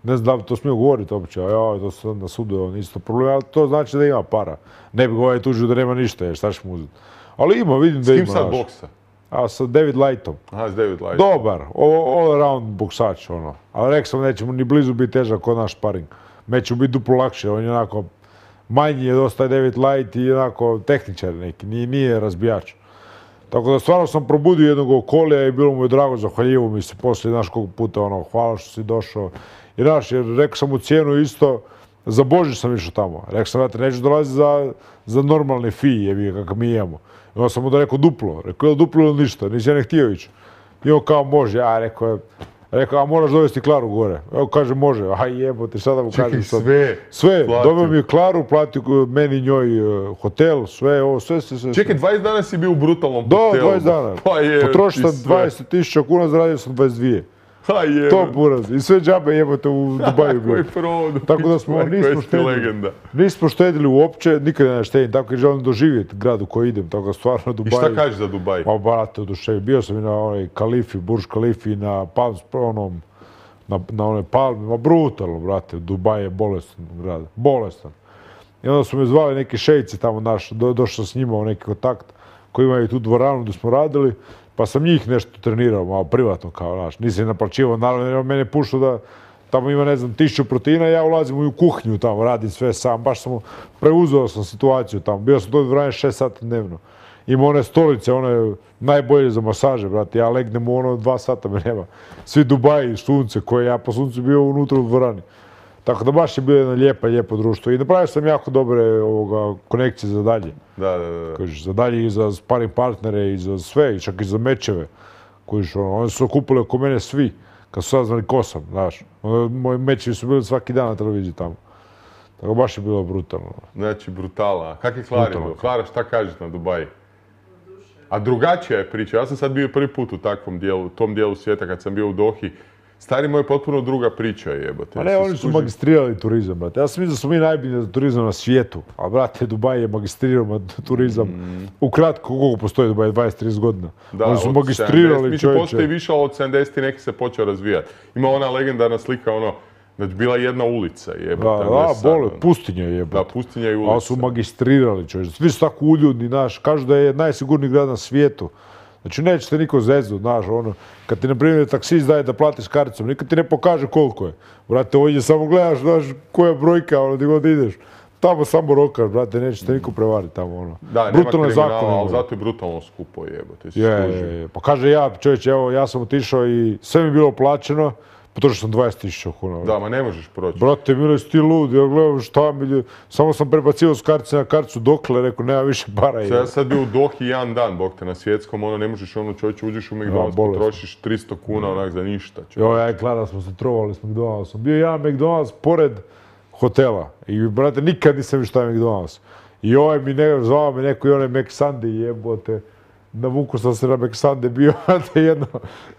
Ne znam da li to smiju govoriti uopće, a to sad na sudu je on isto problem, ali to znači da ima para. Ne bi ga tužio da nema ništa, šta ćeš mu uzeti. Ali ima, vidim da ima. S kim sad boksa? a sa David Lightom. Aha, s David Light. Dobar, all around boksač, ono. Ali rekao sam, nećemo ni blizu biti težak kod naš sparing. Meće mu biti duplo lakše, on je onako manji je dosta David Light i onako tehničar neki, nije razbijač. Tako da stvarno sam probudio jednog okolija i bilo mu je drago, zahvaljivo mi se poslije, znaš koliko puta, ono, hvala što si došao. I znaš, jer rekao sam mu cijenu isto, za Božić sam išao tamo. Rekao sam, znate, neću dolaziti za normalne fije, kakav mi imamo. I onda sam mu da rekao duplo. Rekao, je duplo ili ništa, nisi ja ne htio ići. I on kao, može, ja rekao, a moraš dovesti Klaru gore. Evo kaže, može, a jebote, sada mu kažem sad. Sve, dobio mi je Klaru, platio meni njoj hotel, sve. Čekaj, 20 dana si bio u brutalnom hotelu. Da, 20 dana. Potrošio sam 20.000 kuna, zaradio sam 22. To buraz. I sve džabe jebote u Dubaju bio. Tako da smo nismo štedili uopće, nikada ne štedim, tako jer želim doživjeti grad u koji idem, tako da stvarno Dubaj. I šta kažeš za Dubaj? Pa brate, oduševio. Bio sam i na onoj Kalifi, Burj Kalifi, na onoj palmi, brutalno, brate, Dubaj je bolestan grad, bolestan. I onda su me zvali neki šejci tamo naš, došao s njima u neki kontakt, koji imaju tu dvoranu gdje smo radili. Pa sam njih nešto trenirao, malo privatno kao, znaš, nisam naplaćivao, naravno, jer mene pušao da tamo ima, ne znam, 1000 proteina, ja ulazim u kuhinju tamo, radim sve sam, baš sam preuzeo sam situaciju tamo, bio sam to dvorane 6 sati dnevno. Ima one stolice, one najbolje za masaže, brate, ja legnem u ono 2 sata me nema. Svi Dubaji, sunce, koje ja po suncu bio unutra u dvorani. Tako da baš je bilo jedno lijepo društvo i napravio sam jako dobre konekcije za dalje. Da. Za dalje i za sparing partnere i za sve, i čak i za mečeve. Oni su okupili oko mene svi, kad su saznali ko sam, znaš. Moji mečevi su bili svaki dan na televiziji tamo. Tako baš je bilo brutalno. Znači, brutala. Kak je Klara bilo? Klara, šta kažeš na Dubaji? A drugačija je priča. Ja sam sad bio prvi put u takvom dijelu, tom dijelu svijeta kad sam bio u Dohi. Stari moj je potpuno druga priča, jebote. A ne, oni su magistrirali turizam, brate. Ja sam mislim da smo mi najbolji za turizam na svijetu. A brate, Dubaj je magistrirao turizam. Ukratko, koliko postoji Dubaj? 20-30 godina. Oni su magistrirali, čovječe. Postoji više od 70 i neki se počeo razvijati. Ima ona legendarna slika, znači bila jedna ulica, jebote. Pustinja jebote. Da, pustinja i ulica. Ali su magistrirali, čovječe. Svi su tako uljudni, znaš. Kažu da je najsigurniji grad na svijetu. Znači, neće te niko zezu, znaš, kad ti, na primjer, taksist daje da platiš karticom, nikad ti ne pokaže koliko je. Brate, ovdje samo gledaš, znaš, koja je brojka, gdje god ideš. Tamo samo rokaš, brate, neće te niko prevariti tamo, Da, nema kriminala, ali zato je brutalno skupo, jebote. Je. Pa kaže ja, čovječe, evo, ja sam otišao i sve mi je bilo plaćeno, potrošio sam 20.000 kuna. Da, ma ne možeš proći. Brate, mile, si ti lud, ja gledam šta mi... Samo sam prebacio s kartice na karticu dokle, rekao, nema više para. Ja sad bio u Dohi jedan dan, bog te, na svjetskom, ne možeš, čovječe, uđeš u McDonald's, potrošiš 300 kuna, onak, za ništa. Ja i Klara smo se trovali s McDonald'som. Bio jedan McDonald's pored hotela. I, brate, nikad nisam vidio šta je McDonald's. I zvao me neko i onaj McSunday, jebote. Navukao sam se na McSunday, bio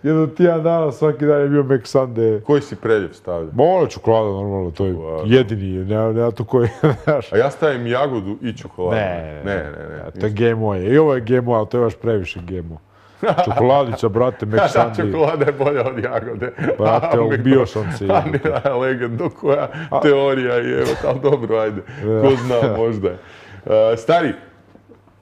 jedno tjedan dana, svaki dan je bio McSunday. Koji si predjev stavio? Ono čokolada, normalno, to je jedini, nema tu koji, znaš. A ja stavim jagodu i čokoladu. Ne. To je GMO I ovo je GMO, ali to je baš previše GMO. Čokoladica, brate, McSunday. Čokolada je bolja od jagode. Brate, ubio sam se. Legendo koja teorija je, ali dobro, ajde. Ko zna, možda je. Stari,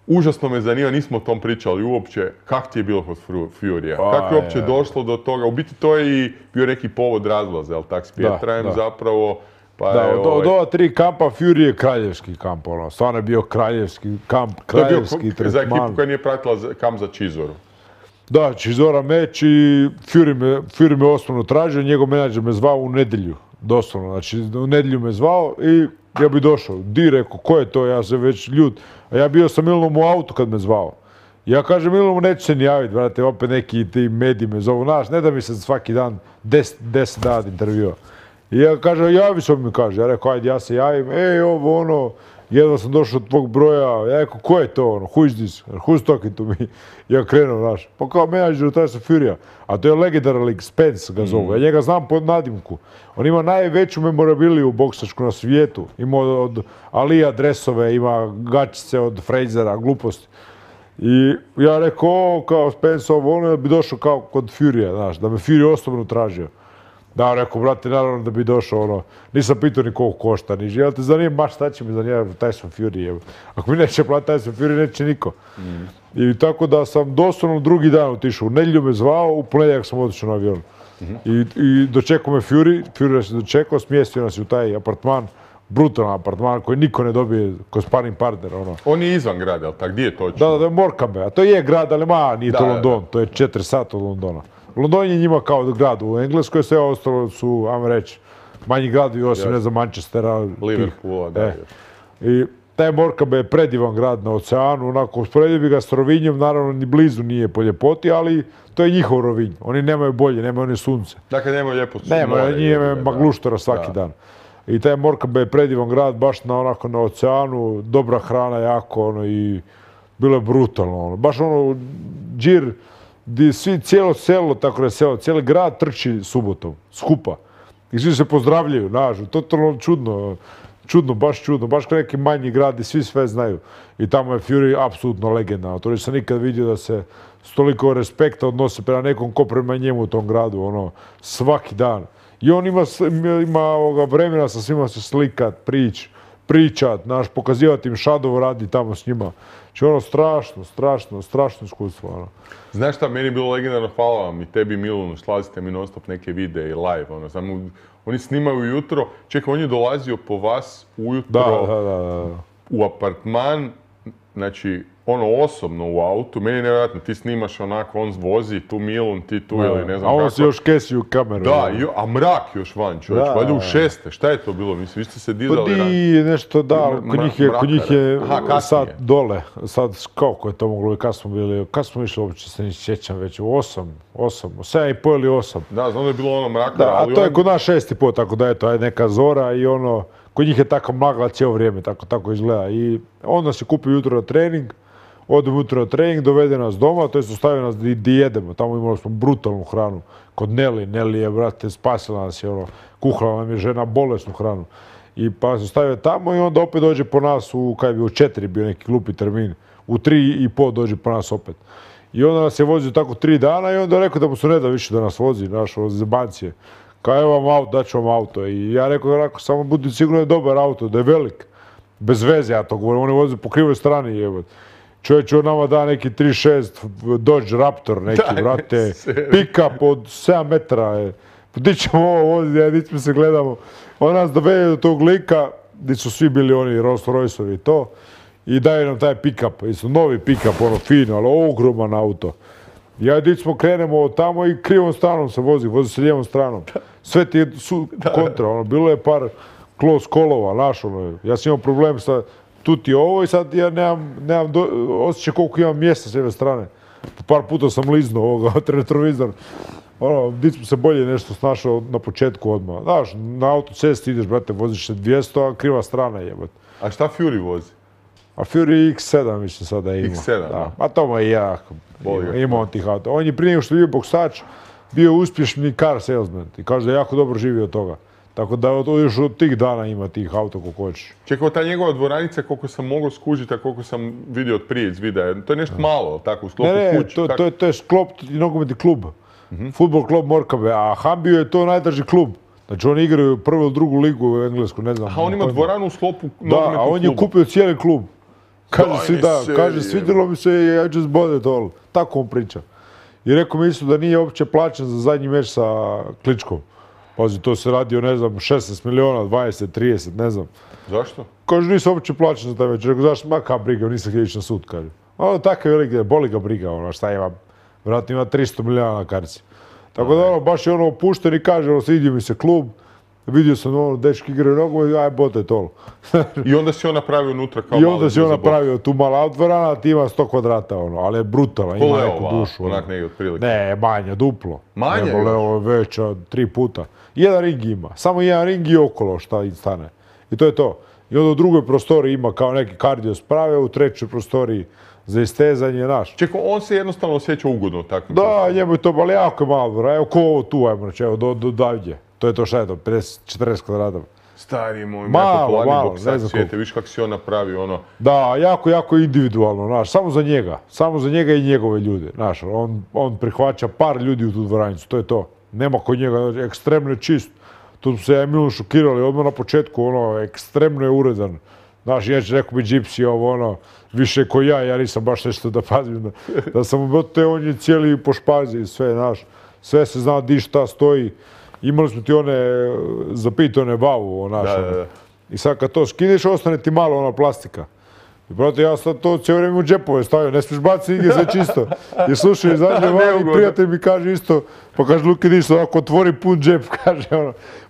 užasno me zanima, nismo o tom pričali uopće, kak ti je bilo kod Furya? Kako je uopće došlo do toga? U biti to je i bio neki povod razlaza, jel tak, s Pietrajem zapravo. Od ova 3 kampa Fury je kraljevski kamp, stvarno je bio kraljevski kamp, kraljevski tretman. Za ekipu koja nije pratila kamp za Chizoru. Da, Chizora meč i Fury me osnovno tražio, njegov menadžer me zvao u nedjelju, doslovno, znači u nedjelju me zvao i ja bi došao. Di, rekao, ko je to, ja se već ljud. A ja bio sam Milanom u autu kad me zvao. Ja kažem, Milanom neću se ni javiti, brate, opet neki ti mediji me zovu, znaš, ne da mi se svaki dan 10 dana intervjua. I ja kažem, javi se mi kaže, ja rekao, ajde, ja se javim, jedva sam došao od tvog broja, ja rekao, ko je to, who is this, who's talking to me? Ja krenuo, znaš, pa kao menadžer Tyson Furya, a to je legendaran lik, Spence ga zovu, ja njega znam pod nadimku. On ima najveću memorabiliju boksačku na svijetu, ima od Alija dresove, ima gačice od Frazera, gluposti. I ja rekao, kao Spence, bi došao kao kod Furya, znaš, da me Fury osobno tražio. Da, rekao, brate, naravno da bi došao, ono, nisam pitao ni koliko košta, ni živa, te zanima, baš šta će mi zanima Tyson Fury, evo. Ako mi neće platiti Tyson Fury, neće niko. I tako da sam doslovno drugi dan otišao, u nedjelju me zvao, u ponedjeljak sam otišao na avion. I dočekao me Fury se dočekao, smjestio nas u taj apartman, brutalan apartman koji niko ne dobije ko sparring partner, ono. On je izvan grada, ali tak, gdje je točno? Da, Morecambe, a to je grad, ali nije to London, to je 4 sata od Londona. London je njima kao grad u Engleskoj, sve ostalo su, ajmo reći, manji gradovi osim, ne znam, Manchestera. Liverpoola, da. I taj Morecambe je predivan grad na oceanu, onako, usporedio bi ga s Rovinjom, naravno ni blizu nije po ljepoti, ali to je njihov Rovinj. Oni nemaju bolje, nemaju oni sunce. Dakle, nemaju lijepo sunce. Nemaju, njih magluštora svaki dan. I taj Morecambe je predivan grad, baš onako na oceanu, dobra hrana jako, ono, i bilo je brutalno, ono. Baš ono, džir, gdje svi, cijelo selo, tako da je selo, cijeli grad trči subotom, skupa. I svi se pozdravljaju, znaš, totalno čudno, baš kao neki manji grad i svi sve znaju. I tamo je Fury apsolutno legenda. To nisam nikad vidio da se s toliko respekta odnose prema nekom ko prema njemu u tom gradu, ono, svaki dan. I on ima ovoga vremena sa svima se slikat, pričat, znaš, pokazivati im Shadow radi tamo s njima. Znači ono strašno iskustvo, ono. Znaš šta, meni je bilo legendarno, hvala vam i tebi Milunu, slazite mi non stop neke videe i live, ono, samo oni snimaju ujutro, čekaj, on je dolazio po vas ujutro u apartman, znači, ono osobno u autu, meni je nevjerojatno, ti snimaš onako, on vozi, tu Milun, ti tu ili ne znam kako. A on si još kesi u kameru. Da, a mrak još van, čovječ, valjda u 6. Šta je to bilo, mislim, vi ste se dizali ranije? Nešto, da, kod njih je sad dole, sad kako je to moglo i kad smo bili, kad smo išli uopće, se ne sjećam već, u 8, 7,5 ili 8. Da, znam da je bilo ono mraka, da, ali... A to je kod nas 6,5, tako da je to, neka zora i ono, kod njih je tako magla cijelo vrijeme, tako izgleda. I onda se kupi jutro na trening, odemo jutro na trening, dovede nas doma, to jest ostavi nas di jedemo. Tamo imali smo brutalnu hranu. Kod Nelly je, brate, spasila nas je, ono, kuhala nam je žena bolesnu hranu. I pa se stavio tamo i onda opet dođe po nas u 4 bio neki glupi termin. U 3,5 dođe po nas opet. I onda nas je vozio tako 3 dana i onda rekao da mu se ne da više da nas vozi, naš zebancije. Kao evo vam auto, daću vam auto. I ja rekao, samo budi sigurno je dobar auto, da je velik. Bez veze ja to govorim, on je vozio po krivoj strani, jebot. Čovječ, on nama da neki 3.6 Dodge Raptor neki, brate, pick-up od 7 metara. Gdje ćemo ovo voziti, ja ničme se gledamo. On nas dovede do tog lika, gdje su svi bili oni Rolls Royce-ovi i to, i daju nam taj pick-up, isto novi pick-up, ono fino, ali ogroman auto. Ja gdje smo krenemo od tamo i krivom stranom se vozi se lijevom stranom. Sve ti su kontra, ono, bilo je par close kolova, naš, ono, ja sam imao problem sa tu ti ovo i sad ja nemam osjećaj koliko imam mjesta s jedne strane. Par puta sam liznuo ovoga retrovizor. Ono, di smo se bolje nešto snašao na početku odmah. Znaš, na autocesti ideš, brate, voziš se 200, a kriva strana jebate. A šta Fury vozi? A Fury X7 mislim sada ima. X7, da. A to mu je jako. Ima on tih auto. On je prije nego što je bio boksač, bio uspješni car salesman. I kaže da je jako dobro živio od toga. Tako da još od tih dana ima tih auto kako hoćeš. Čekaj, ta njegova dvoranica, koliko sam mogao skužiti, a koliko sam vidio od prije iz videa, to je nešto malo, tako, u sklopu kući? Ne, to je sklop i nogometni klub. Futbol klub Morecambe, a Hambio je to najdrži klub. Znači oni igraju prvu ili drugu ligu u Englesku, ne znam. A on ima dvoranu u sklopu nogometnog kluba? Da, a on je kupio cijeli klub. Kaže, svidjelo mi se I just bought it all. Tako on priča. I rekao mi isto da nije uopće plaćen za zadnji meč sa Kličkom. Pazi, to se radi o, ne znam, 16 miliona, 20, 30, ne znam. Zašto? Kaže, nisam uopće plaćen za taj meč. Rekao, zašto, ma ka briga, nisam htio ići na sud, kaže. Ono, tako je velik, boli ga briga, ono, šta ima, vjerojatno ima 300 miliona na karci. Tako da, ono, baš je ono opušten i kaže, ono, svidio mi se klub, vidio sam, ono, dečki igraju nogomet, aj, bote to. I onda si on napravio unutra kao malo. I onda si on napravio tu mala dvorana, ti ima 100 kvadrata, ono, ali je brutalan, ima neku dušu. Onak negdje otprilike. Ne, manje, duplo. Manje? Leo je veća 3 puta. Jedan ring ima, samo jedan ring i okolo šta stane. I to je to. I onda u drugoj prostoriji ima kao neki kardio sprave, u trećoj prostoriji za istezanje, naš. Čekaj, on se jednostavno osjeća ugodno tako? Da, njemu je to, ali jako je malo, evo ko ovo tu, ajmo reći, evo do davdje. To je to šta je to, 50-40 kvadrata. Stari moj, malo, boksač svijete, viš kako si on napravio ono. Da, jako individualno, znaš, samo za njega i njegove ljude, znaš, on prihvaća par ljudi u tu dvoranicu, to je to. Nema kod njega, ekstremno je čist. Tu smo se ja i Milan šokirali odmah na početku, ekstremno je uredan. Znaš, ja ću rekao bi Gypsy, više ko ja nisam baš nešto da pazim. Da sam u on je cijeli po špazi i sve, znaš. Sve se zna di šta stoji. Imali smo ti zapitane vavu, znaš. I sad kad to skidiš, ostane ti malo ona plastika. I brate, ja sad to cijelo vrijeme u džepove stavio, ne smiješ baciti nigdje, sve čisto. I slušaj, izađe van i prijatelj mi kaže isto, pa kaže, Luki, ništa, ako otvori pun džep, kaže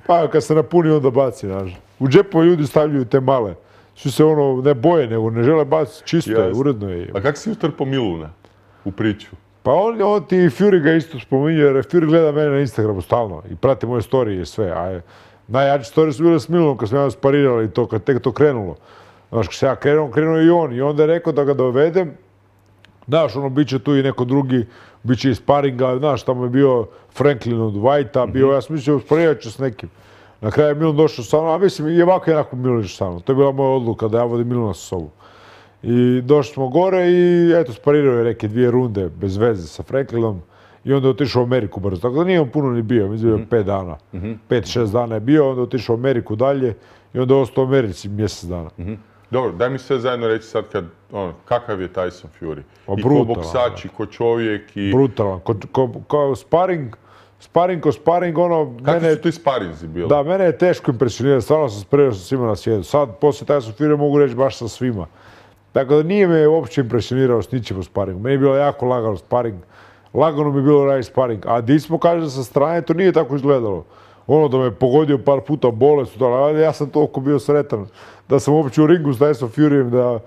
pa kad se napuni onda baci, znaš. U džepove ljudi stavljaju te male. Svi se ne boje, nego ne žele baciti, čisto je, uredno je. A kako si utrpao Miluna u priču? Pa on ti Fury ga isto spominje, jer Fury gleda mene na Instagramu stalno i prati moje storije i sve. A najjače storije su bile s Milunom kad smo ja sparirali i to, kad tek to krenulo. Znaš, kad se ja krenuo i on. I onda je rekao da ga dovedem. Znaš, bit će tu i neko drugi, bit će i sparinga. Znaš, tamo je bio Franklin od Whitea, bio, ja sam mislio, sparirat ću s nekim. Na kraju je Milun došao sa mnom, a mislim, i ovako je onako Milun išao sa mnom. To je bila moja odluka da ja vodim Miluna sa sobom. I došli smo gore i eto, sparirao je neke 2 runde bez veze sa Franklinom. I onda je otišao u Ameriku brzo. Tako da nije on puno ni bio, mislim da je 5 dana. 5-6 dana je bio, onda je otišao u Ameriku dalje i onda je ostao u Americi mjesec dana. Dobro, daj mi sve zajedno reći sad kakav je Tyson Fury. I brutalan, ko boksač, i ko čovjek, i... Brutalan, ko sparing, Kakvi su ti sparinzi bili? Da, mene je teško impresionirati, stvarno sam sparirao sa svima na svijetu. Sad, poslije Tyson Fury mogu reći baš sa svima. Tako da nije me uopće impresionirao s ničim u sparingu. Meni je bilo jako lagano sparing. Lagano mi je bilo raditi sparing. A di smo, kaže, sa strane, to nije tako izgledalo. Da me pogodio par puta bolest, ali ja sam toliko bio sretan da sam uopće u ringu s Tyson Furyjem,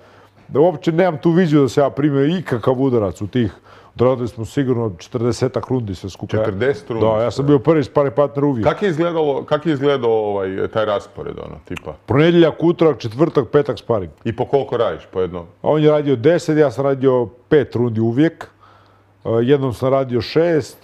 da uopće nemam tu viziju da se ja primio ikakav udarac u tih. Odradili smo sigurno 40-ak rundi sve skupa. 40 rundi? Da, ja sam bio prvi sparing partner uvijek. Kako je izgledao taj raspored, tipa? Ponedjeljak, utorak, četvrtak, petak sparing. I po koliko radiš, po jedno? On je radio 10, ja sam radio 5 rundi uvijek. Jednom sam radio 6,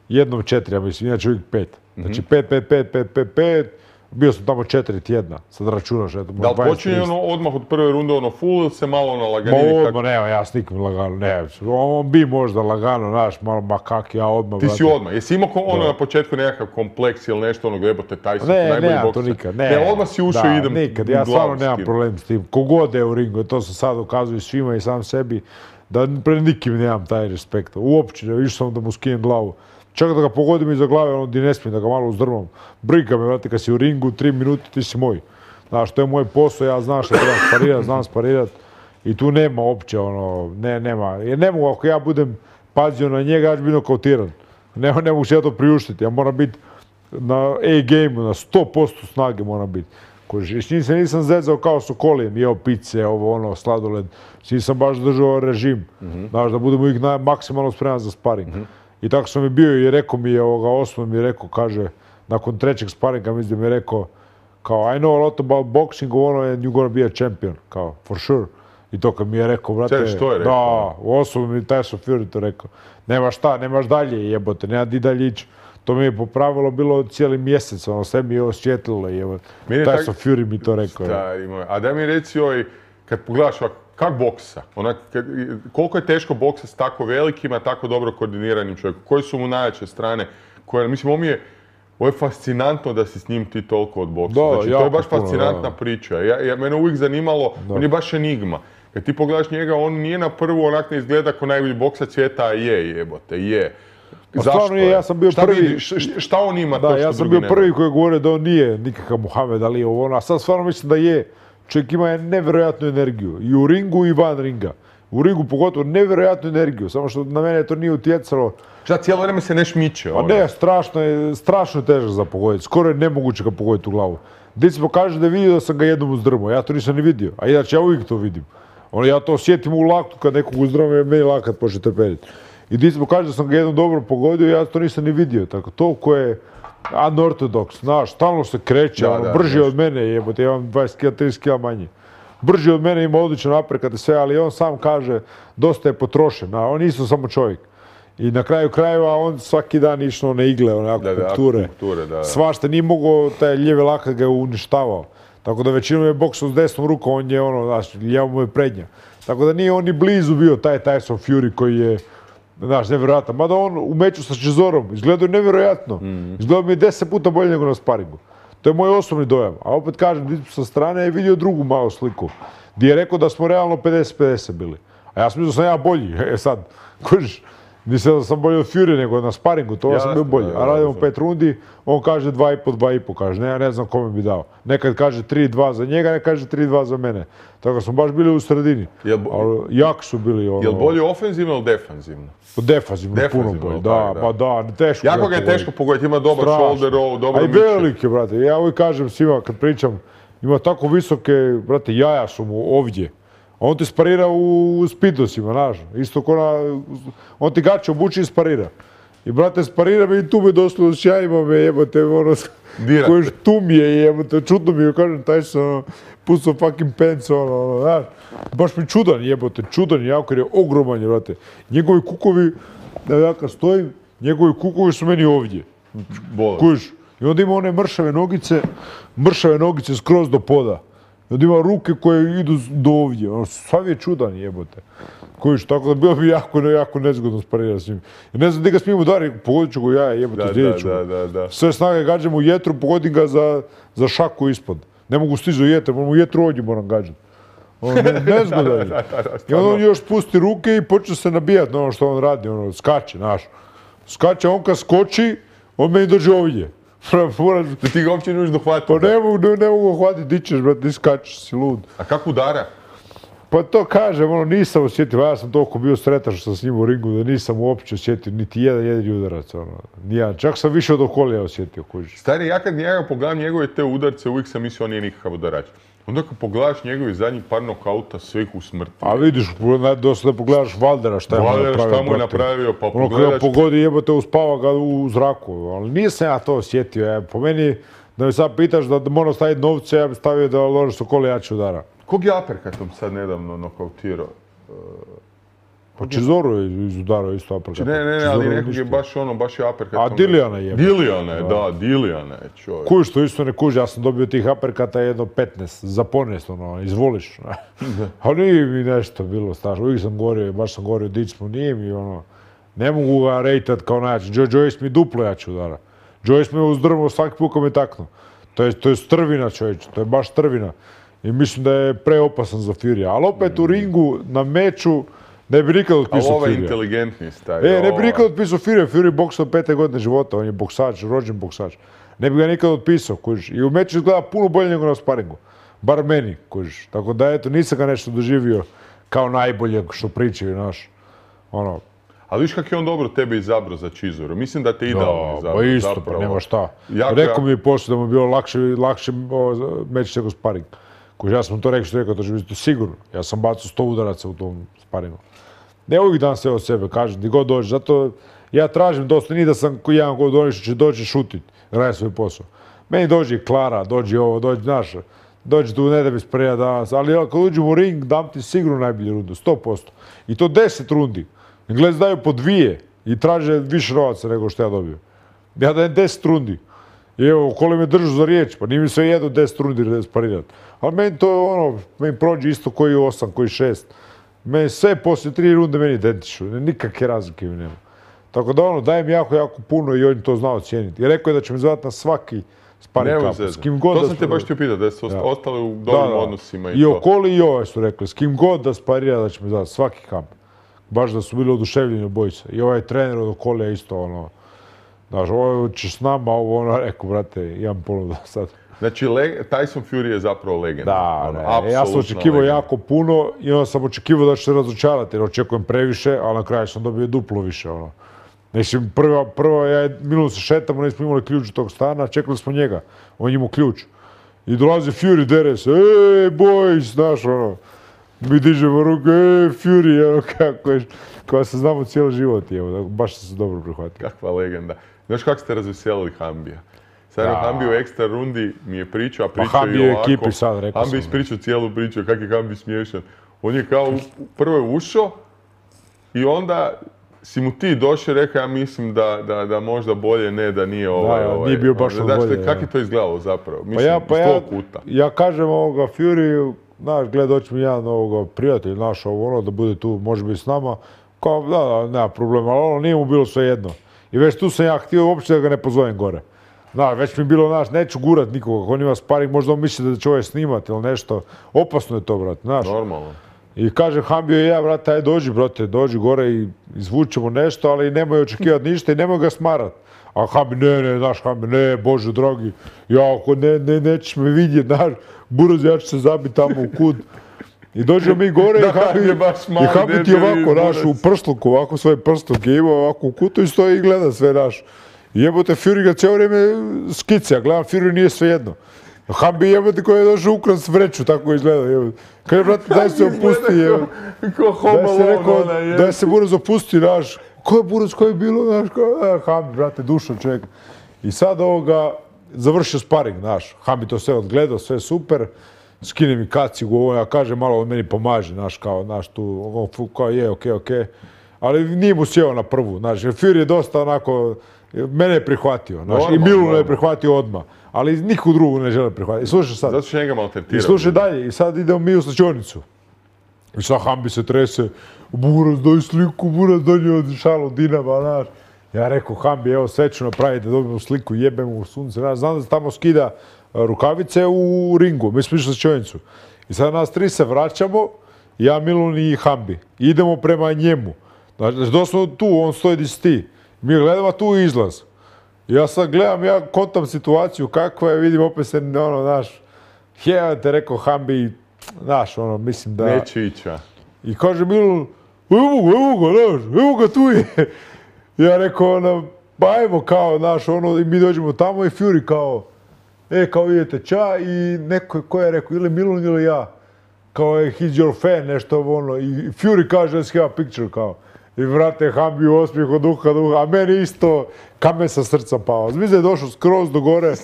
jednom 4, ja mislim, inače uvijek 5. Znači 5. Bio sam tamo 4 tjedna, sad računaš. Da li počinje odmah od prve runde full ili se malo laganini? Odmah, nema, ja s nikim lagano, ne. On bi možda lagano, znaš, malo kak ja odmah. Ti si odmah, jesi imao na početku nekakav kompleks ili nešto jebote Tyson, najbolji bokser? Ne, to nikad, ne. Ne, odmah si ušao i idem nikad, ja stvarno nemam problem s tim. Kogod je u ringu, to sam sad ukazuje svima i sam sebi, da pred nikim nemam taj respekt. Uopće, išao sam da mu skinem glavu. Čak da ga pogodim iza glave, di ne smijem da ga malo uzdrmam. Briga me, vrati, kad si u ringu, 3 minute, ti si moj. Znaš, to je moj posao, ja znam što treba sparirat, znam sparirat. I tu nema uopće, nema. Jer ne mogu, ako ja budem pazio na njega, ja ću biti nokautiran. Ne mogu se ja to priuštiti, ja moram biti na A-game-u, na 100% snage moram biti. S njim se nisam zezao kao s okolijem, jeo pice, sladoled. S njim sam baš držao režim. Znaš, da budem uvijek maksimalno spreman za sparing. I tako sam i bio i rekao mi je osnovno mi je rekao, kaže, nakon 3. sparinga mislim da mi je rekao, kao, I know a lot about boxing, and you're gonna be a champion, kao, for sure. I to kad mi je rekao, brate, što je rekao? Da, osnovno mi Tyson Fury to rekao. Nema šta, nemaš dalje, jebote, nema di dalje ići. To mi je po pravilu bilo cijeli mjesec, sve mi je osvjetlilo, jebote. Tyson Fury mi to rekao. A daj mi reci, kad pogledaš kak boksa? Koliko je teško boksa s tako velikima, tako dobro koordiniranim čovjekom? Koje su mu najjače strane? Mislim, ovo je fascinantno da si s njim ti toliko odboksao. Znači, to je baš fascinantna priča. Mene uvijek zanimalo, on je baš enigma. Kad ti pogledaš njega, on nije na prvu onak ne izgleda kao najbolji boksac svijeta, a je, jebote, je. Zašto? Ja sam bio prvi. Šta on ima to što drugi nema? Ja sam bio prvi koji je govorio da on nije nikakav Muhammed Ali, a sad stvarno mislim da je. Čovjek ima nevjerojatnu energiju, i u ringu i van ringa. U ringu pogotovo nevjerojatnu energiju, samo što na mene to nije utjecalo. Šta, cijelo vrijeme se ne šmiče? A ne, strašno je težak za pogoditi, skoro je nemoguće ga pogoditi u glavu. Dicmo kaže da je vidio da sam ga jednom uzdrmao, ja to nisam ni vidio, a inače ja uvijek to vidim. Ja to osjetim u laktu kad nekog uzdrmao, meni lakat počne trpediti. I Dicmo kaže da sam ga jednom dobro pogodio, ja to nisam ni vidio, tako toliko je unorthodox, znaš, stalno se kreće, brži od mene, jebote, ja imam 20 kg, 30 kg manje. Brži od mene, ima odličan napredak i sve, ali on sam kaže, dosta je potrošen, a on isto samo čovjek. I na kraju krajeva on svaki dan išao na igle, akupunkture. Svašta, nije mogao, taj lijevi lakat ga je uništavao. Tako da većinom je boksao s desnom rukom, on je znaš, lijevo mu je prednja. Tako da nije on ni blizu bio taj Tyson Fury koji je Znaš, nevjerojatno. Mada on u meču sa Cezorom izgledao je nevjerojatno. Izgledao mi je 10 puta bolje nego na sparingu. To je moj osobni dojam. A opet kažem, sa strane je vidio drugu malu sliku. Gdje je rekao da smo realno 50-50 bili. A ja sam mislio da sam ja bolji. Sad, kužiš, nisam da sam bolji od Fury nego na sparingu, to sam bio bolji. A radimo 5 rundi, on kaže 2,5, kaže, ne, ja ne znam kome bi dao. Nekad kaže 3-2 za njega, nekad kaže 3-2 za mene. Tako da smo baš bili u sredini. Jak su bili. Jel bolje ofenzivno ili defanzivno? Defanzivno, puno bolje. Da, pa da, teško. Jako ga je teško pogoditi, ima dobar shoulder roll, dobro miče. A i velike, brate. Ja uvijek kažem svima kad pričam, ima tako visoke, brate, jaja su mu ovdje. A on ti sparira u spidosima, znaš. Isto ko na... On ti gače obuči i sparira. I, brate, sparira me i tu me doslovno s jajima me jebote, ono... Koji tu mi je jebote, čudno mi je, kažem, taj sam pucao fucking pants, ono, znaš. Baš mi čudan jebote, čudan jako jer je ogroman, brate. Njegovi kukovi, da ja kad stojim, njegovi kukovi su meni ovdje. Kužiš. I onda ima one mršave nogice skroz do poda. I onda ima ruke koje idu do ovdje. Ono, sav je čudan jebote. Kužiš, tako da bilo bi jako nezgodno sparirati s njim. Jer ne znam gdje ga smijem udariti, pogodit ću ga ja jebote, zdijelit ću ga. Sve snage gađam u jetru, pogodim ga za šaku ispod. Ne mogu stići do jetra, u jetru ovdje moram gađati. Nezgodan je. I onda on još spusti ruke i počne se nabijati na ono što on radi, ono, skače, znaš. Skače, on kad skoči, on meni dođe ovdje. Da ti ga uopće ne možeš dohvatiti. Pa ne mogu hvatiti, di ćeš, brate, ti skačeš, si lud. A kako udara? Pa to kažem, ono, nisam osjetio, ja sam toliko bio sretan što sam s njim u ringu, da nisam uopće osjetio niti jedan jedini udarac, ono, nijedan. Čak sam više od okolija osjetio, kužiš. Stari, ja kad njega pogledam njegove te udarce, uvijek sam mislio on nije nikakav udarač. Onda kad pogledaš njegovi zadnjih par nokauta, sve ih usmrti. A vidiš, dosta da pogledaš Valdera šta mu je napravio, pa pogledaš... Ono kada pogodi jebote, uspava ga u zraku, ali nisam ja to osjetio. Po meni, da me sad pitaš da moram staviti novce, ja bih stavio da Lorenz Sokoli jače udara. Kog je uppercutom sad nedavno nokautirao? Pa Cezoru je izudarao isto uppercutom. Ne, ali nekog je baš je uppercutom. A Dilijana je. Dilijana je, čovjek. Kužiš to isto ne kuži, ja sam dobio tih uppercuta jedno 15, za ponest, ono, izvoliš. Ali nije mi nešto bilo strašno, uvijek sam govorio, baš sam govorio, dić smo, nije mi ono, ne mogu ga rejtat kao najjači. Joyce mi duplo jače udara. Joyce me uzdrmao svaki put kad me taknuo. To je strvina, čovječe, to je baš strvina. I mislim da je preopasan za Fury. Ali opet u ringu, na meču, ne bi nikad otpisao Fury. Ali ovo je inteligentni staj. Ne bi nikad otpisao Fury. Fury boksa od 5. godine života. On je boksač, rođen boksač. Ne bi ga nikad otpisao, kužiš. I u meču izgleda puno bolje nego na sparingu. Bar meni, kužiš. Tako da, eto, nisam ga nešto doživio kao najbolje što pričaju, znaš. Ono. Ali viš kak je on dobro tebe izabrao za Cezoru. Mislim da te idealno izabrao. Pa isto, pa nema šta. Rekao mi je poslije da mu je bilo lakše meč nego sparing. Kužiš, ja sam to rekao, to će biti sigurno. Ja sam bacao 100 udaraca u tom sparingu. Ne uvijek dan sve od sebe, kažem, gdje god dođe. Zato ja tražim dosta, nije da sam jedan god oni što će doći šutit, radi svoj posao. Meni dođe i Klara, dođe ovo, dođe, znaš, dođe tu ne da bi spremio danas, ali kad uđem u ring, dam ti sigurno najbolju rundu, 100%. I to 10 rundi. Englezi daju po 2 i traže više novaca nego što ja dobio. Ja dajem 10 rundi. I evo, koli me držu za riječ, pa nije mi sve jedno 10 rundi sparirati. Ali meni to ono, meni prođe isto koji 8, koji 6. Meni sve poslije 3 runde meni identično, nikakve razlike mi nema. Tako da ono, dajem jako puno i on to znao cijeniti. I rekao je da će me zvati na svaki sparing kamp. S kim god to sam te baš ti upitao, da su ostali u dobrim odnosima i to. I Okoli i ovaj su rekli, s kim god da sparira da će me zvati svaki kamp. Baš da su bili oduševljeni obojica. I ovaj trener od Okolija isto ono, znaš, ovo će s nama, ovo ono, rekao, brate, imam ponudu sad. Znači, Tyson Fury je zapravo legenda. Da, ja sam očekivao jako puno i onda sam očekivao da će se razočarati jer očekujem previše, ali na kraju sam dobio duplo više. Mislim, prvo minuto se šetamo, nismo imali ključ tog stana, čekali smo njega, on imao ključ. I dolazi Fury, dere se, boys, znaš, ono, mi dižemo ruke, Fury, ono, kako je, koja se znamo cijeli život, baš se dobro prihvatio. Kakva legenda. Znaš kako ste razveselili Hambija? Sad Hambi u ekstra rundi mi je pričao, a pričao i ovako. Ekipi sad, rekao sam. Hambi ispričao cijelu priču, kak je Hambi smiješan. On je kao prvo je ušao i onda si mu ti došao i rekao, ja mislim da možda bolje ne, da nije ovaj. Nije bio baš bolje. Znači, kak je to izgledalo zapravo? Mislim, iz tvojeg kuta. Ja kažem ovoga Fury, znaš, gled, doći mi jedan prijatelj naš, da bude tu, može biti s nama. Kao, da, nema problema, ali ono nije mu bilo sve jedno. I već tu sam ja htio uopće da ga ne pozovem gore. Da, već mi je bilo, znaš, neću gurat nikoga, ako on ima sparing, možda on misli da će ovaj snimat ili nešto. Opasno je to, brate, znaš. Normalno. I kaže Hambio i ja, brate, aj dođi, brate, dođi gore i izvučemo nešto, ali nemoj očekivati ništa i nemoj ga smarat. A Hambi, ne, znaš, Hambi, ne, Bože dragi, ja ako nećeš me vidjet, znaš, buraz, ja ću se zabiti tamo u kut. I dođemo mi gore i Hambi ti ovako, znaš, u prsluku, ovako svoj prstluk je imao ovako u kutu i stoji i gleda sve, znaš. I jebote, Fury ga cijelo vrijeme skice, a gledam, Fury nije sve jedno. Hambi jebote koji je došao ukras vreću, tako izgleda, jebote. Kaže, brate, daj se opusti, jebote. Daj se buraz opusti, znaš. Ko je buraz, ko je bilo, znaš, Hambi, brate, dušo čovjek. I sad ovoga, završio sparing, znaš. Hambi to sve odgledao, sve super. Skine mi kacigu, ja kaže, malo on meni pomaže, znaš, kao, znaš, tu, kao je, okej. Ali nije mu sjeo na prvu, znaš, jer Fury je dosta onako, mene je prihvatio, znaš, i Miluna je prihvatio odmah. Ali nikog drugog ne žele prihvatiti. I slušaj sad. Zato što njega maltretirao. I slušaj dalje. I sad idemo mi u slačionicu. I sad Hambi se trese. Buraz, daj sliku, Buraz, donio šalu Dinama, znaš. Ja rekao, Hambi, evo sve ću napraviti da dobijemo sliku, jebemo u sunce. Znam da se tamo skida rukavice u ringu. Mi smo išli u slačionicu. I sad nas tri se vraćamo, ja, Milun i Hambi. Idemo prema njemu. Znači, doslovno tu, on stoji di si ti. Mi gledamo tu izlaz. Ja sad gledam, ja kontam situaciju kakva je, vidim opet se, ono, znaš, te rekao Hambi, znaš, ono, mislim da... Neće ići, a? I kaže Milun, evo ga, tu je. Ja rekao, ono, pa ajmo, kao, znaš, ono, i mi dođemo tamo i Fury kao, kao idete ča i neko, ko je rekao, ili Milun ili ja, kao, he's your fan, nešto, ono, i Fury kaže, let's have a picture, kao. I vrate, Hambi u osmijeh od duha, a meni isto kamen sa srca pao. Mislim da je došao skroz do gore,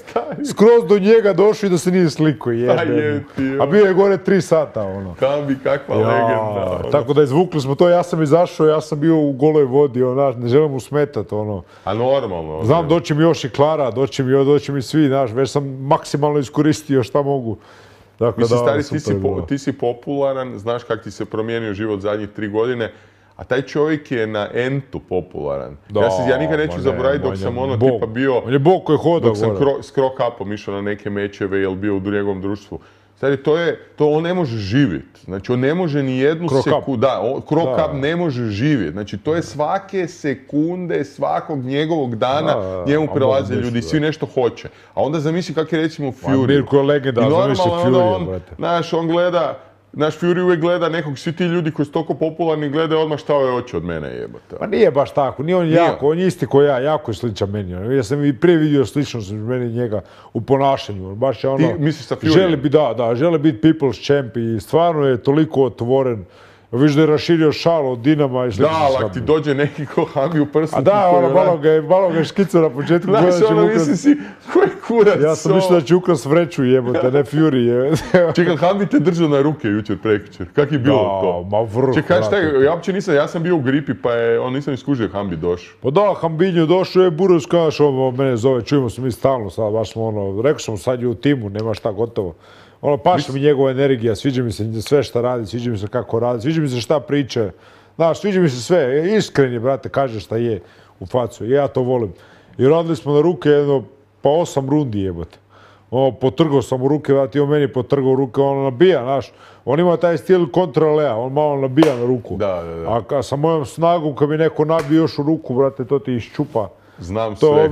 skroz do njega došao i da se nije sliko, jebe. A bio je gore 3 sata, ono. Hambi, kakva legenda. Tako da izvukli smo to, ja sam izašao, ja sam bio u goloj vodi, znaš, ne želim mu smetat, ono. A normalno. Znam, doći mi još i Klara, doći mi svi, znaš, već sam maksimalno iskoristio šta mogu. Mislim, stari, ti si popularan, znaš kak ti se promijenio život zadnjih 3 godine. A taj čovjek je na entu popularan. Ja nikad neću zaboraviti dok sam ono tipa bio... On je bog koji hoda dok sam s Krokapom išao na neke mečeve ili bio u njegovom društvu. Stari, to on ne može živjeti. Znači, on ne može ni jednu sekundu... Da, Krokap ne može živjeti. Znači, to je svake sekunde, svakog njegovog dana njemu prelaze ljudi i svi nešto hoće. A onda zamisli kak je recimo Fury. Mirko je legenda, zamisli Fury, brate. Znaš, on gleda... Naš Fury uvijek gleda nekog, svi ti ljudi koji su toliko popularni gledaju odmah šta ovaj hoće od mene jebate. Pa nije baš tako, nije on jako, on je isti ko ja, jako je sličan meni. Ja sam i prije vidio sličnost meni njega u ponašanju. Baš je ono, ti misliš sa Fury? želi biti people's champ i stvarno je toliko otvoren. Viš da je raširio šal od Dinama i slično. Da, ali ti dođe neki ko Hambi u prstu. A da, malo ga je škicao na početku. Znaš, ono misli si, koji kurac. Ja sam mislio da će ukras vreću jebote, ne Fury jebote. Čekaj, Hambi te držao na ruke jučer, prekjučer. Kak je bilo to? Ma vrh. Čekaj, ja uopće nisam, ja sam bio u gripi pa je, nisam iskužio Hambi došao. Pa da, Hambinju došao, Buraz, kaš, mene zove, čujemo se mi stalno sad, baš smo ono, rekao sam sad je u timu, nema šta, gotovo. Ono, paša mi njegova energija, sviđa mi se sve šta radi, sviđa mi se kako radi, sviđa mi se šta priča. Znaš, sviđa mi se sve, iskren je, brate, kaže šta je u facu, ja to volim. I radili smo na ruke jedno, pa 8 rundi jebote. Potrgao sam u ruke, brate, i on meni potrgao u ruke, ono nabija, znaš. On ima taj stil kontralea, on malo nabija na ruku. Da. A sa mojom snagom, kad mi neko nabije još u ruku, brate, to ti iščupa. Znam sve. To je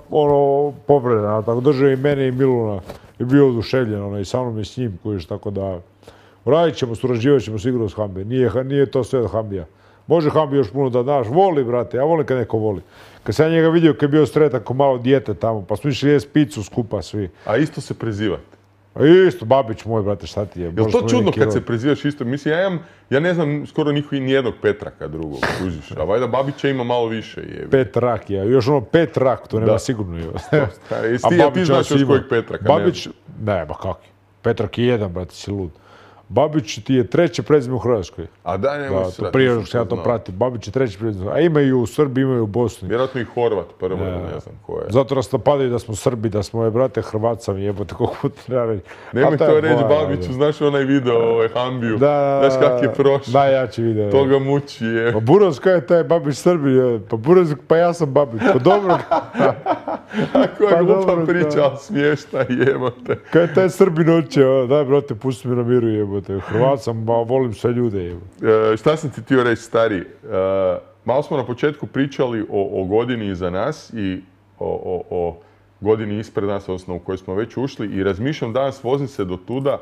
ono povreda, tako držao i mene i Miluna. I bio oduševljen, i sa mnom i s njim, kojiš, tako da... Radit ćemo, surađivat ćemo sigurno s Hambi. Nije to sve od Hambija. Može Hambi još puno da daš. Voli, brate, ja volim kad neko voli. Kad sam ja njega vidio, kad je bio sretan ko malo dijete tamo, pa smo išli jesti picu skupa svi. A isto se prezivate? A isto, Babić moj, brate, šta ti je? Jel to čudno kad se prezivaš isto? Mislim, ja ne znam skoro nijednog Petraka drugog, kužiš. A valjda Babića ima malo više. Petrak, još ono Petrak, to nema sigurno. A ti znaš još kojeg Petraka? Babić, ne, ba kaki. Petrak je jedan, brate, si lud. Babić ti je treće prezime u Hrvatskoj. A da, nemoj se to prije nego što ja to pratim. Babić je treće prezime. A imaju u Srbiji, imaju u Bosni. Vjerojatno i Horvat prvo, ne znam ko je. Zato nas napadaju da smo Srbi, da smo brate Hrvatca, jebote, koliko puta treba reći. Nemoj to reći Babiću, znaš onaj video, Hambiju, znaš kak je prošao. Najjači video. To ga muči, je. Pa Buraz, kaj je taj Babić Srbi? Pa Buraz, pa ja sam Babić, pa dobro. Koja glupa priča, ali smiješna, jebote. Kaj je taj Srbin oče, daj brate, pusti mi na miru, jebote. Hrvat sam, volim sve ljude, jebote. Šta sam ti htio reći, stari? Malo smo na početku pričali o godini iza nas i o godini ispred nas, odnosno u kojoj smo već ušli, i razmišljam danas, vozim se do tuda,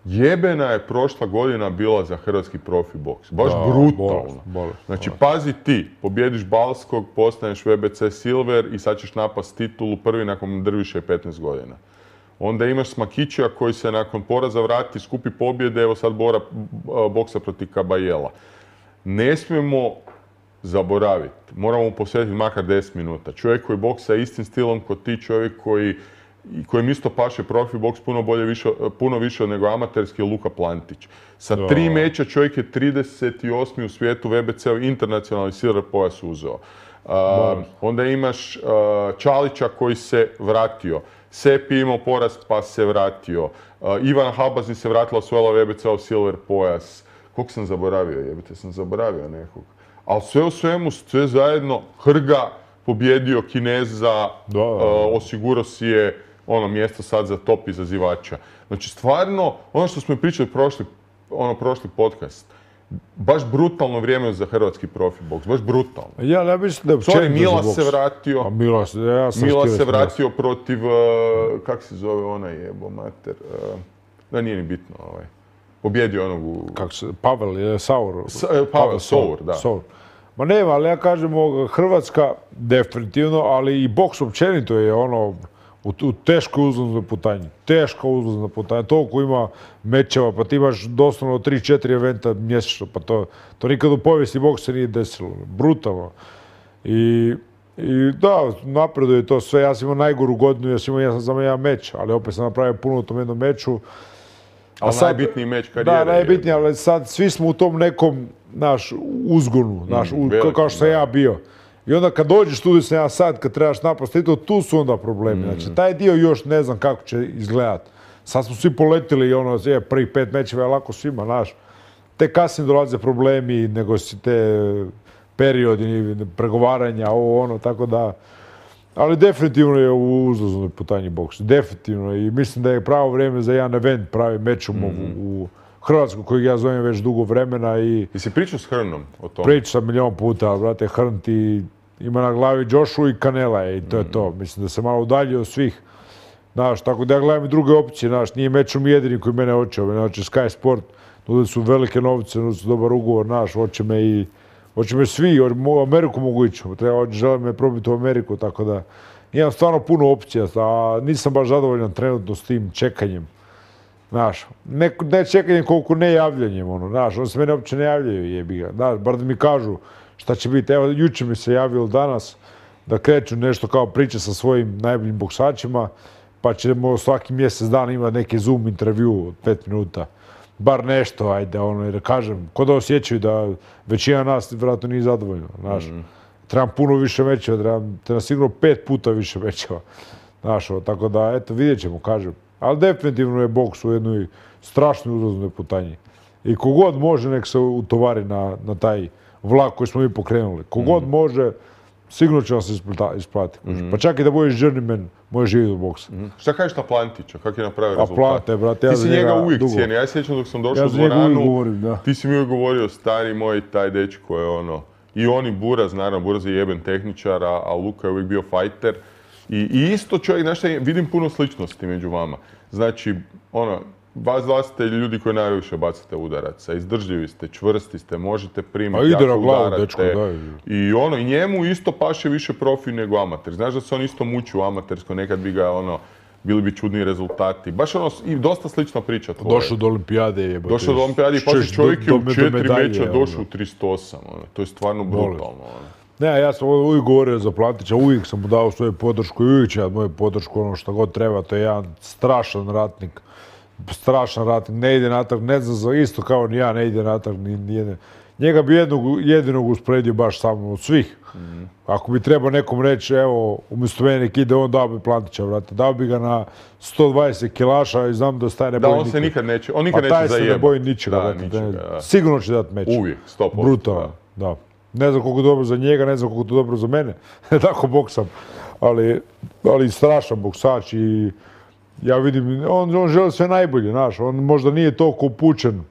jebena je prošla godina bila za hrvatski profi boks. Baš brutalno. Znači, pazi ti, pobjediš Balskog, postaneš VBC Silver i sad ćeš napast titulu prvi nakon Drviše 15 godina. Onda imaš Smakića koji se nakon poraza vrati, skupi pobjede, evo sad boksa protiv Kabajela. Ne smijemo zaboraviti, moramo mu posvetiti makar 10 minuta. Čovjek koji boksa istim stilom kod ti, čovjek kojem isto paše profi boks puno više nego amaterski, je Luka Plantić. Sa 3 meča čovjek je 38. u svijetu VBC-u internacionalni silver pojas uzeo. Onda imaš Čalića koji se vratio. Sepi imao poraz pa se vratio. Ivana Habazin se vratila, osvojila VBC-ov silver pojas. Koliko sam zaboravio, jebite, sam zaboravio nekog. Ali sve u svemu, sve zajedno, Hrga pobjedio Kineza, osigurao si je mjesto sad za top izazivača. Znači, stvarno, ono što smo pričali prošli podcast, baš brutalno vrijeme za hrvatski profi boks, baš brutalno. Ja ne mislim da je općenito za boks. Milas se vratio. Milas se vratio protiv, kak se zove onaj jebo mater, da nije ni bitno, pobjedio onog u... Kako se, Pavel Saur. Pavel Saur, da. Ma nema, ali ja kažem, Hrvatska definitivno, ali i boks općenito je u teškoj uzlaznoj putanji. Teška uzlazna putanja. Toliko ima mečeva, pa ti imaš doslovno 3-4 eventa mjesečno, pa to nikad u povijesti boksa nije desilo. Brutalno. I da, napreduje to sve. Ja sam imao najgoru godinu, ja sam imao samo jedan meč, ali opet sam napravio puno u tom jednom meču. Ali najbitniji meč karijere. Da, najbitniji, ali sad svi smo u tom nekom, uzgonu, kao što sam ja bio. I onda kad dođeš tu sam ja sad, kad trebaš napasti to, tu su onda problemi. Znači, taj dio još ne znam kako će izgledat. Sad smo svi poletili i prvih 5 mečeva je lako svima, znaš. Te kasnije dolaze problemi, nego si te periodi pregovaranja, tako da... Ali definitivno je u uzlaznoj putanji boks. Definitivno. I mislim da je pravo vrijeme za jedan event, pravi meč u Hrvatsku, kojeg ja zovem već dugo vremena. Jesi pričao s Hrnom o tome? Pričao sam milion puta, ali brate, Hrn ti ima na glavi Joshua i Canela i to je to. Mislim da se malo udaljio od svih. Znaš, tako da ja gledam i druge opcije, znaš, nije mečom jedini koji mene hoće. Znači, Sky Sport, nude su velike novce, nude su dobar ugovor, znaš, hoće me svi, u Ameriku mogu ići, želim me probiti u Ameriku, tako da imam stvarno puno opcija, a nisam baš zadovoljan trenutno s tim čekanjem. Znaš, ne čekanjem koliko ne javljanjem, znaš, oni se mene uopće ne javljaju, jebi ga, znaš, bar da mi kažu šta će biti. Evo, jučer mi se javilo danas da kreću nešto kao priče sa svojim najboljim boksačima, pa ćemo svaki mjesec dana imati neki Zoom intervju od 5 minuta. Bar nešto, ajde, jer kažem, ko da osjećaju da većina nas vjerojatno nije zadovoljna, znaš. Trebam puno više mečeva, trebam sigurno 5 puta više mečeva, znaš, tako da, eto, vidjet ćemo, kažem. Ali definitivno je boks u jednoj strašnoj uzlaznoj putanji. I kogod može, nek se utovari na taj vlak koji smo mi pokrenuli. Kogod može, sigurno će vam se isplatiti. Pa čak i da budeš journeyman, možeš živjeti u boksu. Šta kažeš na Plantića? Kak je napravio rezultat? A Plante, brate, ja za njega dugo. Ti si njega uvijek cijenio. Ja sjećam dok sam došao u dvoranu, ti si mi uvijek govorio, stari moj, taj dečko je i on i Buraz, naravno, Buraz je jeben tehničar, a Luka je uvijek bio fajter. I isto čovjek, znaš šta, vidim puno sličnosti među vama. Znači, vas ste ljudi koji najviše bacite udaraca, izdržljivi ste, čvrsti ste, možete primiti, jako udarate. I njemu isto paše više profi nego amater. Znaš da se on isto muči u amatersko, nekad bi ga bili bi čudni rezultati. Baš i dosta slična priča tvoje. Došao do olimpijade jebote. Došao do olimpijade i pazi, čovjek je u 4 meča došao u 308. To je stvarno brutalno. Ne, ja sam uvijek govorio za Plantića, uvijek sam mu dao svoju podršku i uvijek će moju podršku, što god treba. To je jedan strašan ratnik. strašan rating, ne ide natrag, ne znam, isto kao ni ja, ne ide natrag ni jedne. Njega bi jedinog usporedio baš samo od svih. Ako bi trebao nekom reći, evo, umjesto mene nek ide, on dao bi Plantića, vrate. Dao bi ga na 120 kilaša i znam da staje ne boji nikad. Da, on se nikad neće zajebati. Taj se ne boji ničega. Sigurno će dati meč. Uvijek, 100%. Brutalno, da. Ne znam koliko je dobro za njega, ne znam koliko je dobro za mene. Tako boksam. Ali strašan boksač i ja vidim, on želi sve najbolje, znaš. On možda nije toliko upućen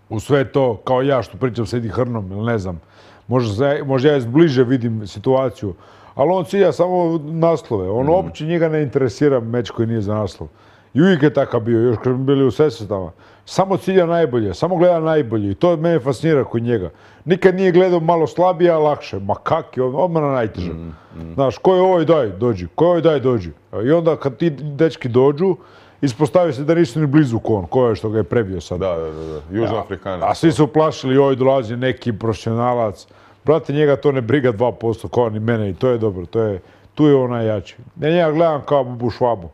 u sve to, kao ja što pričam s Eddie Hearnom, ili ne znam. Možda ja bliže vidim situaciju, ali on cilja samo naslove. On uopće njega ne interesira meč koji nije za naslov. I uvijek je takav bio, još kad smo bili u sesvetama. Samo cilja najbolje, samo gleda najbolje i to mene fascinira kod njega. Nikad nije gledao malo slabije, a lakše. Ma kak je, odmah na najteže. Znaš, ko je ovaj daj, dođi, ko je ovaj daj, dođi. I onda kad ti dečki dođu, ispostavi se da nisu ni blizu ko je što ga je prebio sad. Da, Južnoafrikanac. A svi su plašili, oj, dolazi neki profesionalac. Brate, njega to ne briga 2%, kao ni mene i to je dobro, tu je on najjači. Ja njega gledam kao Bubu Švabu.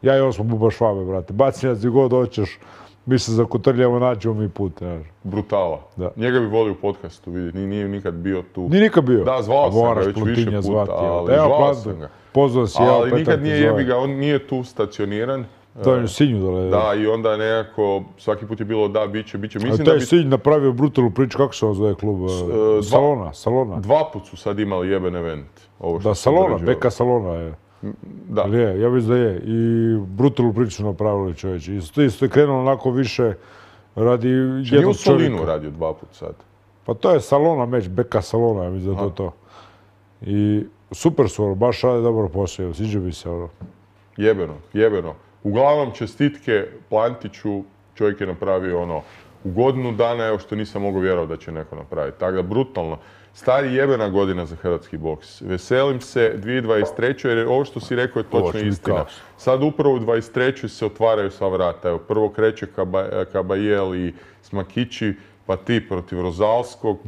Ja i on smo Buba Švabe, brate. Baci nas gdje god hoćeš, mi se zakotrljamo, nađemo mi put. Brutala. Njega bi volio u podcastu vidjeti, nije nikad bio tu. Nije nikad bio. Da, zvao sam ga već više puta, ali zvao sam ga. Pozvao si, ali nikad nije jebiga, on nije tu stacioniran. To je u Sinju dole. Da, i onda nekako, svaki put je bilo da, bit će. A taj Sinj napravio brutalnu priču, kako se zove klub? Salona. 2 put su sad imali jeben event. Da, Salona, Beka Salona je. Da. Ja mislim da je. I brutalnu priču su napravili čovječi. Isto je krenulo onako više radi jednog čovjeka. Nije u Solinu radio 2 put sad. Pa to je Salona meč, Beka Salona, ja mislim da je to. I super su, baš rade dobro posao, sviđa mi se. Jebeno. Uglavnom, čestitke Plantiću, čovjek je napravio u godinu dana, evo što nisam mogao vjerovati da će neko napraviti. Tako da, brutalno. Stari jebena godina za hrvatski boks. Veselim se 2023. jer ovo što si rekao je točno istina. Sad upravo u 2023. se otvaraju sva vrata. Evo, prvo kreće Kabajel i Smakići, pa ti protiv Rozalskog,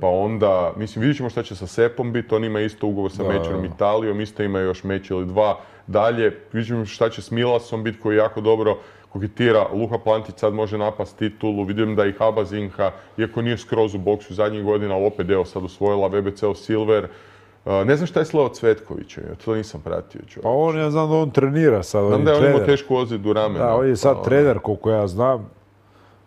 pa onda, mislim, vidjet ćemo šta će sa Sepom biti, on ima isto ugovor sa Mečerom Italijom, isto ima još meč ili 2 dalje. Vidjet ćemo šta će s Milasom biti koji jako dobro koketira. Luka Plantić sad može napast titulu, vidim da i Haba Zinha, iako nije skroz u boksu zadnjih godina, ali opet sad osvojila WBC Silver. Ne znam šta je s Leo Cvetkovićem, to nisam pratio. Pa ja znam da on trenira sad, znam da je on imao tešku ozljedu ramena. Da, on je sad trener, koliko ja znam.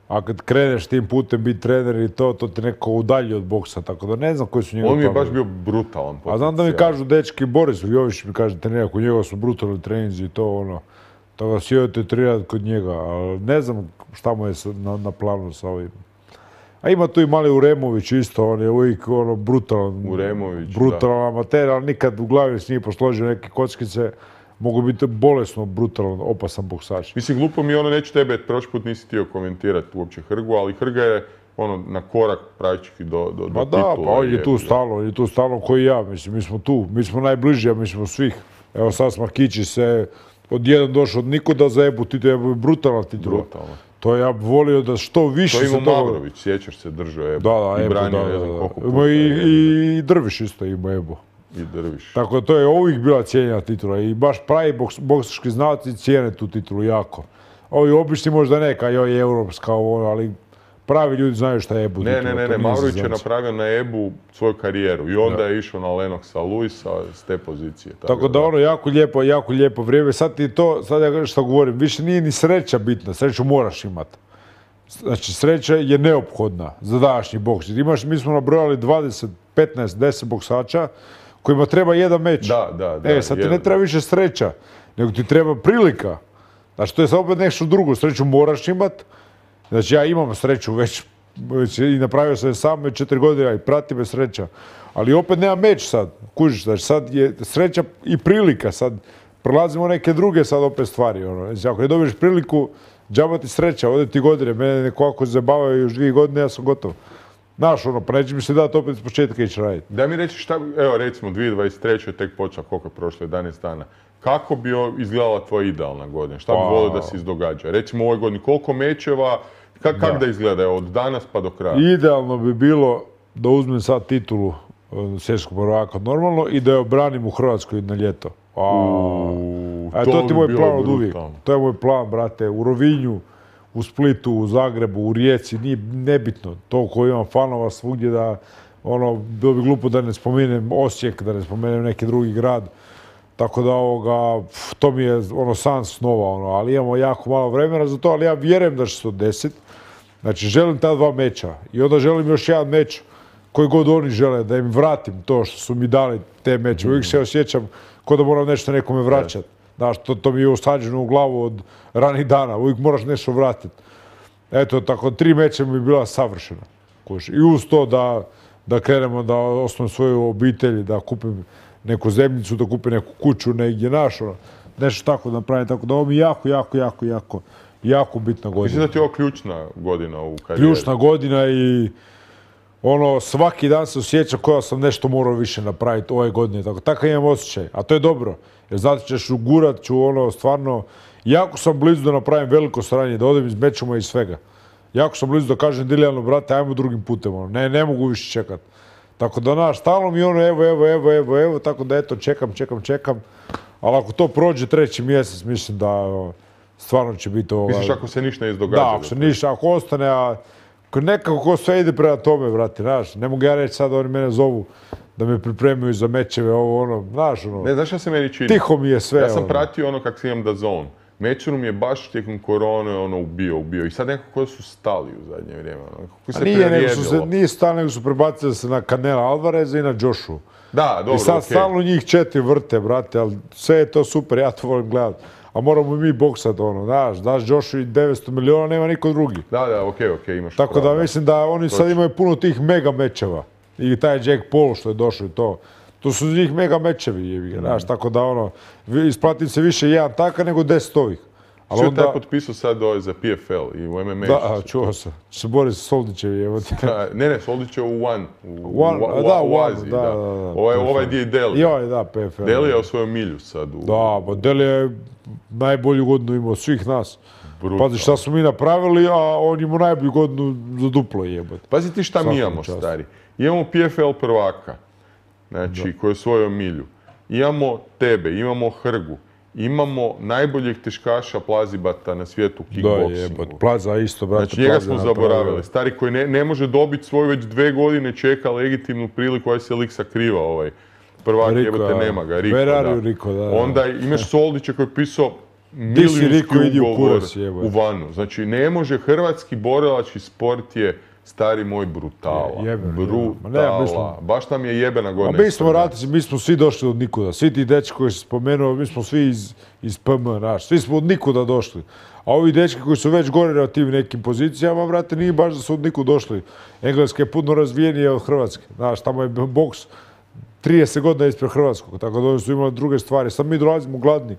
A kad kreneš tim putem biti trener i to te neko udalji od boksa, tako da ne znam koji su njegov On mi je baš bio brutalan potencijal. A znam da mi kažu dečki, Boris Jović mi kaže trener, kod njega su brutalni treninzi i to tako da svi odete trenirati kod njega, ali ne znam šta mu je na planu sa ovim. A ima tu i mali Uremović isto, on je uvijek brutalan. Brutalan amater, ali nikad u glavi s njih posložio neke kockice. Mogu biti bolesno, brutalan, opasan boksač. Mislim, glupo mi neću tebe, prošli put nisi htio komentirati uopće Hrgu, ali Hrga je na korak praktički do titula. Da, pa on je tu stalno koji ja, mislim, mi smo tu, mi smo najbliži, mi smo svih. Evo sad Smakići se od jedan došao od nikuda za Ebu titul, Ebu je brutalan titula. To ja bi volio da što više se to ima Mavrović, sjećaš se, držao Ebu. Da, i branio ne znam koliko puta. I Drviš isto ima Ebu. Tako da to je uvijek bila cijenjena titula i baš pravi boksački znalci cijene tu titulu jako. Ovi obični možda neka, joj europska, ali pravi ljudi znaju šta je Ebu titula. Ne, Mavrović je napravio na Ebu svoju karijeru i onda je išao na Lennoxa Luisa s te pozicije. Tako da jako lijepo vrijeme. Sad ti to, sad ja što govorim, više nije ni sreća bitna, sreću moraš imati. Znači, sreća je neophodna za današnji boks. Mi smo nabrojali 20, 15, 10 boksača kojima treba jedan meč. Sad ti ne treba više sreća, nego ti treba prilika. Znači, to je sad opet nešto drugo. Sreću moraš imat. Znači, ja imam sreću već i napravio sam je sam već 4 godine i prati me sreća. Ali opet nema meč sad. Kužiš, znači, sad je sreća i prilika. Sad prelazimo neke druge sad opet stvari. Znači, ako ne dobiješ priliku, džaba ti sreća, ode ti godine. Mene neko ako se zabavaju još 2 godine, ja sam gotov. Znaš, pa neće mi se dati opet iz početka ići raditi. Daj mi reći šta, evo recimo 2023. je tek počela, koliko je prošlo, 11 dana. Kako bi izgledala tvoja idealna godina? Šta bi volio da se izdogađa? Recimo u ovoj godini, koliko mečeva, kako da izgleda od danas pa do kraja? Idealno bi bilo da uzmem sad titulu svjetskog prvaka normalno i da je obranim u Hrvatskoj na ljeto. A to ti je moj plan od uvijek. To je moj plan, brate, u Rovinju, u Splitu, u Zagrebu, u Rijeci, nije nebitno. Toliko imam fanova svugdje da, bilo bi glupo da ne spomenem Osijek, da ne spomenem neki drugi grad. Tako da to mi je san snova, ali imamo jako malo vremena za to, ali ja vjerujem da će se to desiti. Znači, želim ta 2 meča i onda želim još jedan meč koji god oni žele, da im vratim to što su mi dali te meče. Uvijek se osjećam kao da moram nešto nekome vraćati. Znaš, to mi je usađeno u glavu od ranih dana, uvijek moraš nešto vratiti. Eto, tako 3 meča mi je bila savršena. I uz to da krenemo da osnovim svoju obitelj, da kupim neku zemljicu, da kupim neku kuću negdje nešto tako da napravim. Tako da ovo mi je jako bitna godina. Mislim da ti je ovo ključna godina u karijeri. Ključna godina i svaki dan se osjećam kao da sam nešto morao više napraviti ove godine. Takav imam osjećaj, a to je dobro. Jer zato ćeš ugurat ću stvarno, jako sam blizu da napravim veliko sranje, da odem iz mečuma i svega. Jako sam blizu da kažem Dilijanu, brate, ajmo drugim putem, ne mogu više čekat. Tako da, stalno mi evo, tako da eto, čekam. Ali ako to prođe 3. mjesec, mislim da stvarno će biti Misliš ako se ništa ne izdogađa? Da, ako ostane, a nekako ko sve ide prema tome, brate, znaš, ne mogu ja reći sad, oni mene zovu da me pripremaju za mečeve, znaš, Ne, znaš šta se meni čini? Tiho mi je sve, Ja sam pratio kak si imam DAZN. Mečeru mi je baš tijekom korone ubio. I sad nekako su stali u zadnje vrijeme. Nije stali, nego su prebacili se na Canelo Alvareza i na Joshu. Da, dobro, i sad stalno njih 4 vrte, brate, ali sve je to super, ja to volim gledati. A moramo mi boksat, daš Joshu i 900 miliona, nema niko drugi. Da, okej, imaš pravo. Tako da mislim da oni sad imaju puno tih mega mečeva. I taj Jack Paul što je došao i to. To su njih mega mečevi, znaš, tako da isplatim se više jedan taka nego 10 ovih. Što je taj potpisao sad za PFL i u MMA? Da, čuo sam. Se bori sa Soldićevi, evo ti. Ne, Soldić je u u Aziji, da. Ovaj gdje je Deli. Joj, da, PFL. Deli je osvojio milju sad. Da, pa Deli je najbolju godinu imao svih nas. Pazi šta smo mi napravili, a on imao najbolju godinu za duplo jebati. Pazi ti šta mi imamo, stari. Imamo PFL prvaka, znači, koji je osvojio milju. Imamo tebe, imamo Hrgu. Imamo najboljeg teškaša Plazibata na svijetu u kickboksingu. Da, Plaza isto, brate. Znači, njega smo zaboravili. Stari koji ne može dobiti svoju već 2 godine čeka legitimnu priliku, koja se lik sakriva prvak jebote nema ga, Riko, da. Onda imaš Soldića koji je pisao milijunski ugovor u Vanu. Znači, ne može, hrvatski borilački sport je, stari moj, brutala. Brutala. Baš nam je jebena godina. Mi smo svi došli od nikuda. Svi ti dečki koji si spomenuo, mi smo svi iz PM, svi smo od nikuda došli. A ovi dečki koji su već gore na tim nekim pozicijama, brate, nije baš da su od nikud došli. Engleska je puno razvijenija od Hrvatske. Znaš, tamo je boks 30 godina ispred Hrvatskog, tako da oni su imali druge stvari. Sad mi dolazimo gladni.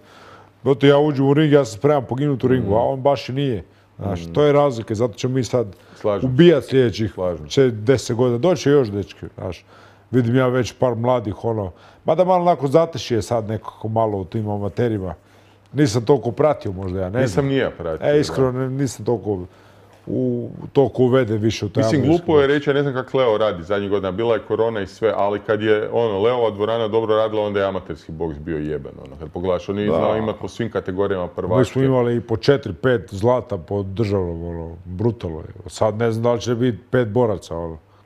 Zato ja uđem u ring, ja se spremam poginuti u ringu, a on baš i nije. Znaš, to je razlika, zato ćemo mi sad ubijati sljedećih 10 godina. Doće još dečki, znaš. Vidim ja već par mladih, mada malo onako zatešije sad nekako malo u tim amaterima. Nisam toliko pratio možda, ja ne znam. Nisam nije pratio. Iskreno, nisam toliko uveden više u taj američki. Mislim, glupo je reći, ja ne znam kako Leo radi zadnjih godina. Bila je korona i sve, ali kad je Leova dvorana dobro radila, onda je amaterski boks bio jeben. Kad pogledaš, on nije znao imati po svim kategorijama prvačke. Mi smo imali i po 4-5 zlata po državnom, brutalno je. Sad ne znam da li će biti 5 boraca,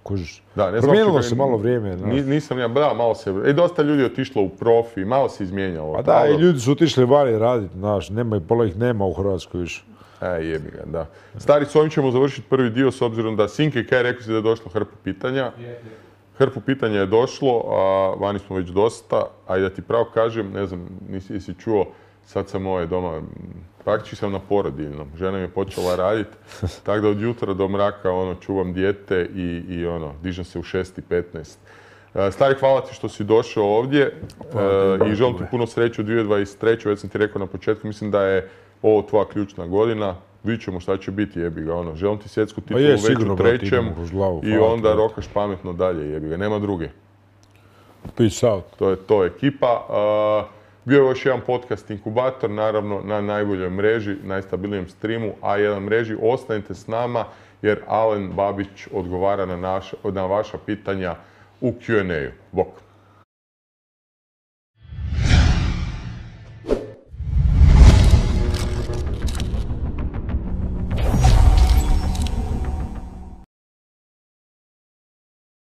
kužiš. Promijenilo se malo vrijeme. Nisam ja, malo se, dosta ljudi je otišlo u profi, malo se izmijenjalo. A da, i ljudi su otišli vani raditi, znaš, pola ih nema u Hrvatskoj više. Jebi ga, da. Stari, s ovim ćemo završiti prvi dio, s obzirom da Sinke Kaj rekao si da je došlo hrpu pitanja. Hrpu pitanja je došlo, a vani smo već dosta, a i da ti pravo kažem, ne znam, nisi čuo, sad sam doma, praktički sam na porodiljnom, žena mi je počela raditi, tako da od jutra do mraka čuvam dijete i dižem se u 6:15. Stari, hvala ti što si došao ovdje i želim ti puno sreće u 2023. Već sam ti rekao na početku, mislim da je ovo tvoja ključna godina. Vidit ćemo šta će biti, jebi ga. Želim ti svjetsku titulu već u 3. i onda rokaš pametno dalje, jebi ga. Nema druge. Peace out. To je to ekipa. Bio je još jedan podcast Inkubator, naravno na najboljoj mreži, najstabilnijem streamu A1 mreži. Ostanite s nama jer Alen Babić odgovara na vaša pitanja u Q&A-u. Bok.